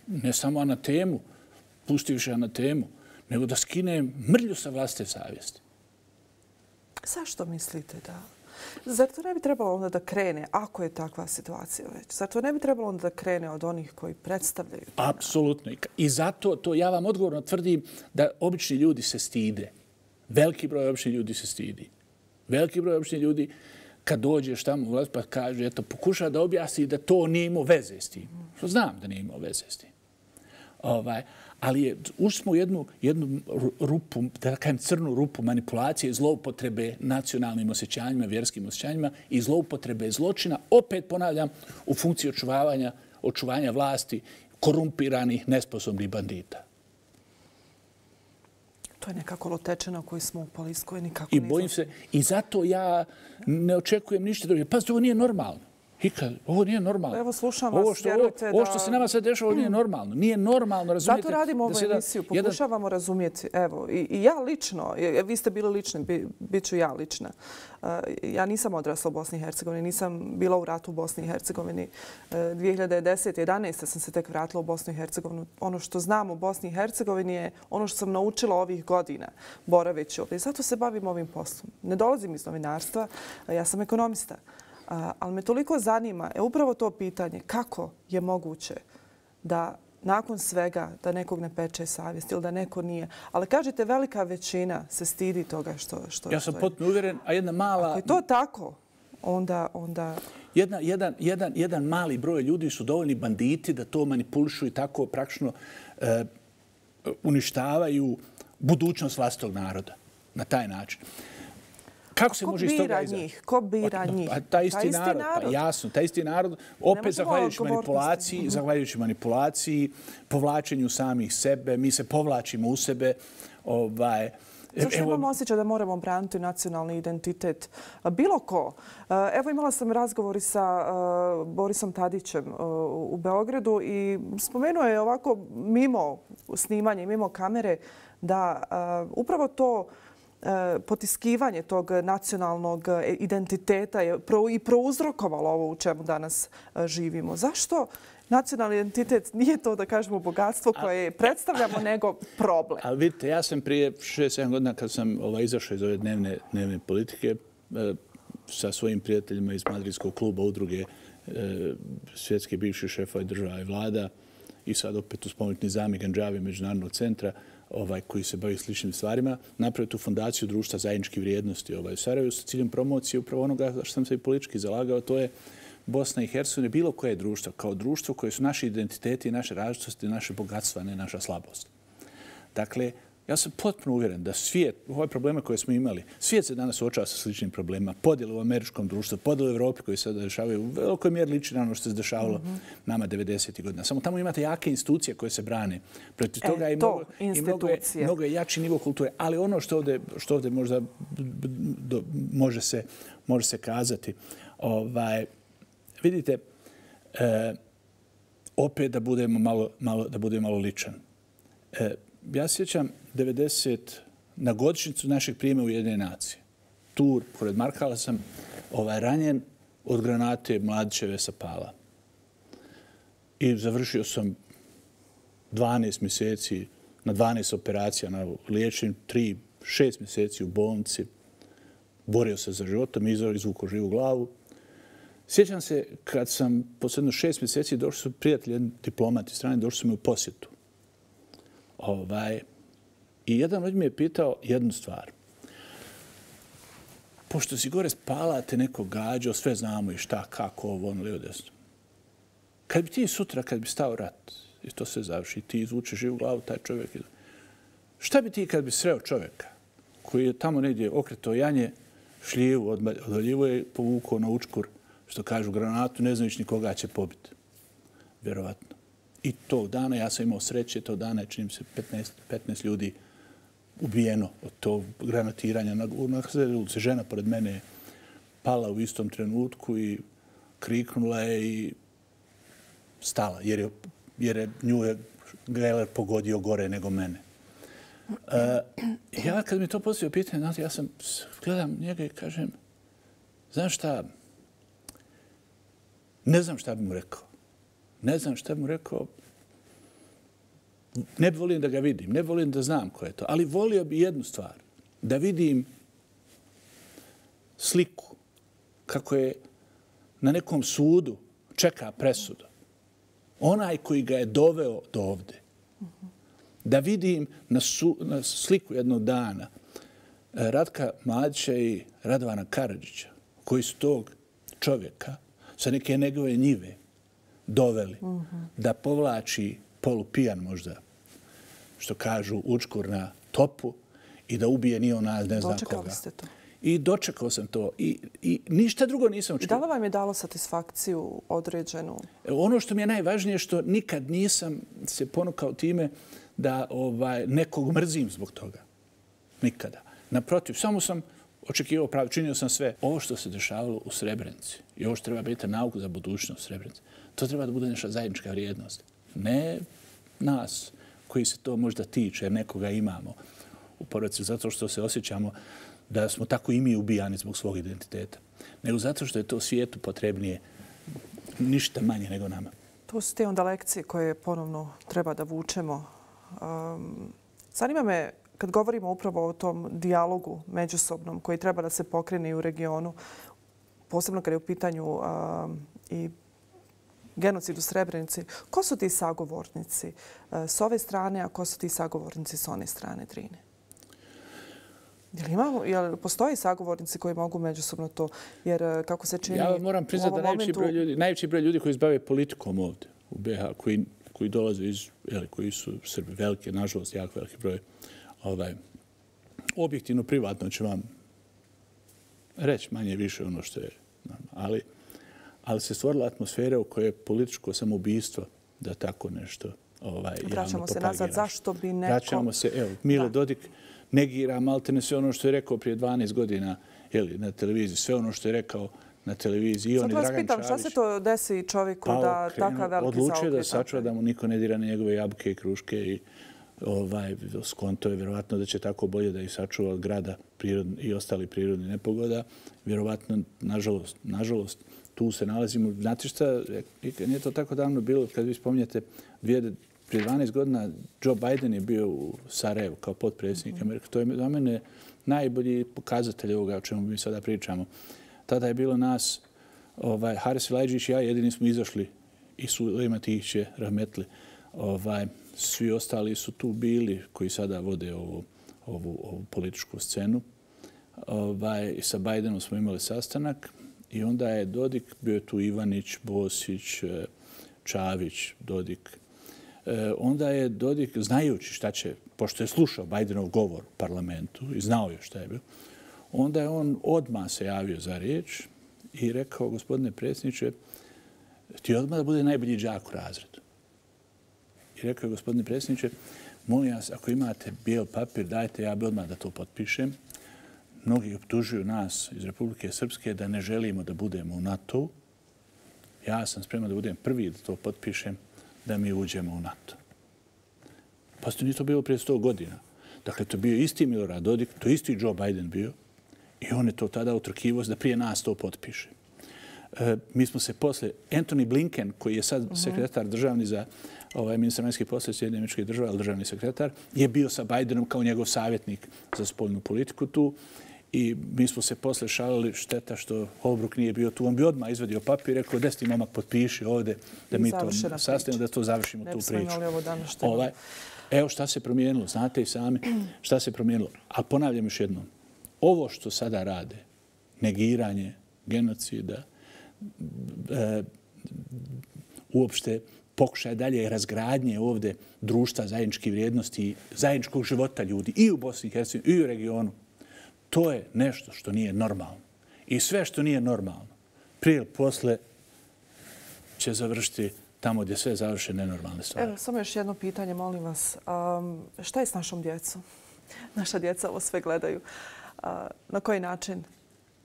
ne samo anatemu, pusti više anatemu, nego da skinem mrlju sa vlastite savjesti. Zašto mislite da Zar to ne bi trebalo onda da krene, ako je takva situacija već? Zar to ne bi trebalo onda da krene od onih koji predstavljaju? Apsolutno. I zato to ja vam odgovorno tvrdim da obični ljudi se stide. Veliki broj običnih ljudi se stidi. Veliki broj običnih ljudi kad dođeš tamo u vlast pa kaže, eto, pokuša da objasni da to nije imao veze s tim. Što znam da nije imao veze s tim. Ali ušli smo u jednu rupu, da kažem crnu rupu manipulacije i zloupotrebe nacionalnim osjećanjima, vjerskim osjećanjima i zloupotrebe zločina, opet ponavljam, u funkciji očuvanja vlasti korumpiranih, nesposobnih bandita. To je nekako lotečena koju smo upali iz koje nikako I bojim se, i zato ja ne očekujem ništa drugo. Pazite, ovo nije normalno. Ovo nije normalno. Evo, slušam vas, vjerujte da... Ovo što se nama sad dešava, ovo nije normalno. Nije normalno, razumijete? Zato radimo ovu emisiju, pokušavamo razumjeti. Evo, i ja lično, vi ste bili lični, bit ću ja lična. Ja nisam odrasla u Bosni i Hercegovini, nisam bila u ratu u Bosni i Hercegovini. 2010. 11. sam se tek vratila u Bosnu i Hercegovinu. Ono što znam u Bosni i Hercegovini je ono što sam naučila ovih godina boraveći ovdje. Zato se bavim ovim poslom. Ne dolazim iz novinarstva, ja sam ekonomista. Ali me toliko zanima upravo to pitanje kako je moguće da nakon svega da nekog ne peče savjest ili da neko nije. Ali kažete velika većina se stidi toga što ja sam potpuno uvjeren, a jedna mala... Ako je to tako, onda... Jedan mali broj ljudi su dovoljni banditi da to manipulišu i tako praktično uništavaju budućnost vlastitog naroda na taj način. Kako se može iz toga izaći? Ko bira njih? Taj isti narod. Pa jasno, taj isti narod. Opet zahvaljujući manipulaciji, povlačenju samih sebe. Mi se povlačimo u sebe. Zašto imamo osjećaj da moramo braniti nacionalni identitet? Bilo ko. Evo imala sam razgovor i sa Borisom Tadićem u Beogradu i spomenuo je ovako mimo snimanja i mimo kamere da upravo to potiskivanje tog nacionalnog identiteta je i prouzrokovalo ovo u čemu danas živimo. Zašto nacionalni identitet nije to, da kažemo, bogatstvo koje predstavljamo, nego problem? Ali vidite, ja sam prije 6-7 godina kad sam izašao iz ove dnevne politike sa svojim prijateljima iz Madridskog kluba udruge svjetske bivših šefova država i vlada i sad opet u spomenuti Nizami Ganđavi Međunarodnog centra koji se bavi sličnim stvarima, napravio tu fondaciju društva zajedničkih vrijednosti u Sarajevu sa ciljem promocije upravo onoga što sam se i politički zalagao, to je Bosna i Hercegovina, bilo koje društvo, kao društvo koje su naši identiteti, naše različitosti, naše bogatstva, ne naša slabost. Dakle, ja sam potpuno uvjeren da svijet, ove probleme koje smo imali, svijet se danas suočava sa sličnim problemima, podjele u američkom društvu, podjele u Evropi koji se dešavaju u velikoj mjeri liči na ono što se dešavalo nama 90. godina. Samo tamo imate jake institucije koje se brane. Protiv toga i mnogo je jači nivo kulture. Ali ono što ovdje možda može se kazati, vidite, opet da budemo malo ličan. Ja sjećam 90 na godišnjicu našeg prijema u Ujedinjene nacije. Tu, pored Markala, sam ranjen od granate Mladićeve sa Pala. I završio sam 12 mjeseci na 12 operacija na liječenju, 6 mjeseci u bolnici. Borio se za životom, izvukao živu glavu. Sjećam se kad sam posle 6 mjeseci došli su prijatelji, diplomati strane, došli su mi u posjetu. I jedan od njih mi je pitao jednu stvar. Pošto si gore spala, te neko gađao, sve znamo i šta, kako, ovo, ono, lijevo, desno. Kad bi ti sutra, kad bi stao rat, i to se završi, ti izvuče živu glavu, taj čovjek. Šta bi ti kad bi sreo čovjeka koji je tamo negdje okretao janje, šljivu, odvaljivo je povukao na učkur, što kažu, granatu, ne znajući nikoga će pobiti. Vjerovatno. I tog dana, ja sam imao sreće, tog dana je, činim se, 15 ljudi ubijeno od tog granatiranja. Na ulici žena pored mene je pala u istom trenutku i kriknula je i stala, jer je nju je Geller pogodio gore nego mene. Ja kad mi to postavio pitanje, ja sam gledam njega i kažem, znaš šta, ne znam šta bi mu rekao. Ne bi volim da ga vidim, ne bi volim da znam ko je to, ali volio bi jednu stvar, da vidim sliku kako je na nekom sudu čeka presudu. Onaj koji ga je doveo do ovde. Da vidim na sliku jednog dana Ratka Mladića i Radovana Karadžića, koji su tog čovjeka sa neke njegove njive doveli da povlači polupijan možda, što kažu, učkur na topu i da ubije ni ona, ne zna koga. Dočekali ste to? I dočekao sam to. I ništa drugo nisam očekao. Da li vam je dalo satisfakciju određenu? Ono što mi je najvažnije je što nikad nisam se ponukao time da nekog mrzim zbog toga. Nikada. Naprotiv, samo sam očekivao pravi, činio sam sve. Ovo što se dešavalo u Srebrenici i ovo što treba biti nauka za budućnost Srebrenice, to treba da bude naša zajednička vrijednost. Ne nas koji se to možda tiče, jer nekoga imamo u porodici, zato što se osjećamo da smo tako i mi ubijani zbog svog identiteta, nego zato što je to svijetu potrebnije ništa manje nego nama. To su te onda lekcije koje ponovno treba da vučemo. Zanima me, kad govorimo upravo o tom dijalogu međusobnom koji treba da se pokrene i u regionu, posebno kad je u pitanju i genocid u Srebrenici, ko su ti sagovornici s ove strane, a ko su ti sagovornici s one strane Drine? Jel postoji sagovornici koji mogu međusobno to? Jer kako se čini... Ja moram priznati da najveći broj ljudi koji se bave politikom ovdje u BiH, koji dolaze koji su Srbi, velike, nažalost, jako veliki broj, objektivno, privatno će vam reći manje više ono što je. Ali se stvorila atmosfera u kojoj je političko samoubistvo da tako nešto javno propagiraš. Vraćamo se nazad. Zašto bi neko... Vraćamo se, evo, Milo Dodik negira maltene sve ono što je rekao prije 12 godina na televiziji, sve ono što je rekao na televiziji. I on i Dragan Čavić. Sad vas pitam, šta se to desi čovjeku da takav veliki zaokret? Odlučio da sačuva da mu niko ne dira na njegove jabuke i kruške i skonto je vjerovatno da će tako bolje da ih sačuva od grada i ostali prirodni nepogoda. Vjerovatno, nažalost, tu se nalazimo. Znate šta, nije to tako davno bilo, kad vi spominjete, prije 12 godina Joe Biden je bio u Sarajevu kao potpredsjednik Amerike. To je za mene najbolji pokazatelj ovoga o čemu mi sada pričamo. Tada je bilo nas, Haris Elajdžić i ja, jedini smo izašli i Sulejman Tihić je rahmetli. Svi ostali su tu bili koji sada vode ovu političku scenu. I sa Bidenom smo imali sastanak i onda je Dodik, bio je tu Ivanić, Bosić, Čavić, Dodik. Onda je Dodik, znajući šta će, pošto je slušao Bidenov govor u parlamentu i znao je šta je bio, onda je on odmah se javio za riječ i rekao, gospodine predsjedniče, ti odmah da bude najbolji đak u razredu. I rekao je, gospodine predsjedniče, molim vas, ako imate bijel papir, dajte, ja bi odmah da to potpišem. Mnogi optužuju nas iz Republike Srpske da ne želimo da budemo u NATO-u. Ja sam spreman da budem prvi da to potpišem, da mi uđemo u NATO. Pa nije to bilo prije 100 godina. Dakle, to je bio isti Milorad Dodik, to je isti Joe Biden bio i on je to tada utrkivo da prije nas to potpiše. Mi smo se posle, Antony Blinken, koji je sad sekretar državni za ministar vanjskih poslova Sjedinjenih Američkih Država, državni sekretar, je bio sa Bidenom kao njegov savjetnik za spoljnu politiku tu. I mi smo se posle šalili, šteta što Holbrooke nije bio tu. On bi odmah izvadio papir i rekao, deseti momak potpiši ovdje da mi to sastavimo, da to završimo tu priču. Evo šta se promijenilo, znate i sami šta se promijenilo. A ponavljam još jednom, ovo što sada rade, negiranje genocida, uopšte pokušaj dalje razgradnje ovdje društva zajedničkih vrijednosti, zajedničkog života ljudi i u Bosni i Hercegovini i u regionu, to je nešto što nije normalno. I sve što nije normalno, prije ili posle će završiti tamo gdje sve završe nenormalne stvari. Evo, samo još jedno pitanje, molim vas. Šta je s našom djecom? Naša djeca ovo sve gledaju. Na koji način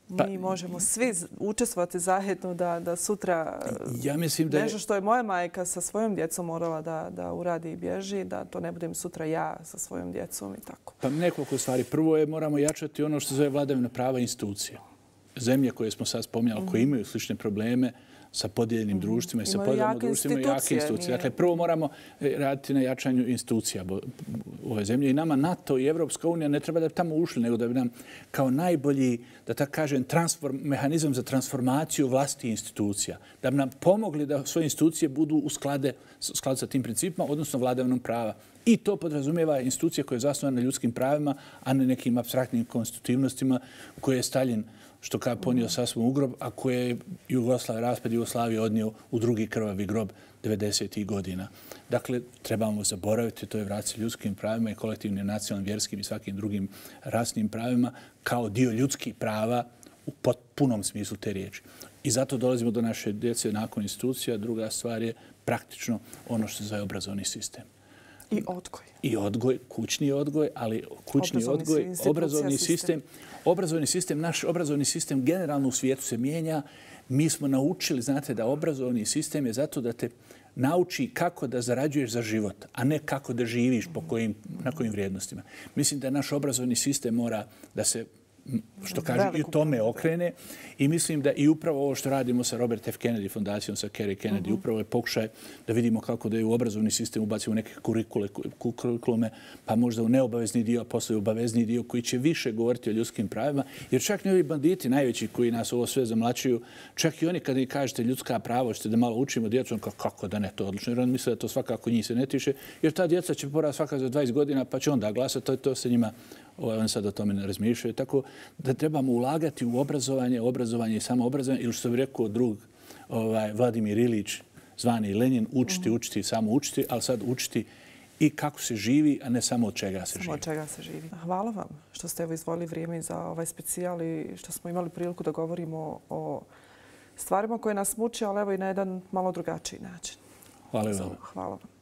mi možemo svi učestvovati zajedno da sutra nešto što je moja majka sa svojom djecom morala da uradi i bježi, da to ne budem sutra ja sa svojom djecom i tako. Pa nekoliko stvari. Prvo je moramo jačati ono što zove vladavina prava institucija. Zemlje koje smo sad spominjali, koje imaju slične probleme, sa podijeljenim društvima i sa Imaju podijeljenim jake društvima i jake institucije, institucije. nije- Dakle, prvo moramo raditi na jačanju institucija ove zemlje i nama NATO i Evropska unija ne treba da bi tamo ušli, nego da bi nam kao najbolji, da tako kažem, mehanizam za transformaciju vlastitih institucija, da bi nam pomogli da svoje institucije budu u skladu sa tim principima, odnosno vladavinom prava. I to podrazumijeva institucije koje je zasnovane na ljudskim pravima, a ne nekim apstraktnim konstitutivnostima koje je Stalin, što kao ponio sasvom u grob, a koje je raspad Jugoslavije odnio u drugi krvavi grob 90. godina. Dakle, trebamo zaboraviti, to je vratiti ljudskim pravima i kolektivnim, nacionalnim, vjerskim i svakim drugim rasnim pravima kao dio ljudskih prava u punom smislu te riječi. I zato dolazimo do naše djece nakon institucija. Druga stvar je praktično ono što se zove obrazovni sistem. I odgoj. I odgoj, kućni odgoj, ali kućni odgoj, obrazovni sistem, naš obrazovni sistem generalno u svijetu se mijenja. Mi smo naučili, znate, da obrazovni sistem je zato da te nauči kako da zarađuješ za život, a ne kako da živiš na kojim vrijednostima. Mislim da naš obrazovni sistem mora da se, što kaže, i u tome okrene. I mislim da i upravo ovo što radimo sa Robert F. Kennedy fondacijom, sa Kerry Kennedy, upravo je pokušaj da vidimo kako da je u obrazovni sistem ubacimo neke kurikulume, pa možda u neobavezni dio, a posle u obavezni dio koji će više govoriti o ljudskim pravima. Jer čak i ovi banditi najveći koji nas ovo sve zamlačuju, čak i oni kada im kažete ljudska prava, hoćete da malo učimo djecu, kako da ne, to odlično. Jer on misle da to svakako njih se ne tiče, jer ta djeca će porasti svaka za 20 godina, pa će onda glasati, to se njima, oni sad o tome ne razmišljaju. Tako da trebamo ulagati u obrazovanje i samoobrazovanje, ili što bi rekao drug Vladimir Ilić, zvani Lenin, učiti, samo učiti, ali sad učiti i kako se živi, a ne samo od čega se živi. Samo od čega se živi. Hvala vam što ste izvojili vrijeme za ovaj specijal i što smo imali priliku da govorimo o stvarima koje nas muče, ali evo i na jedan malo drugačiji način. Hvala vam. Hvala vam.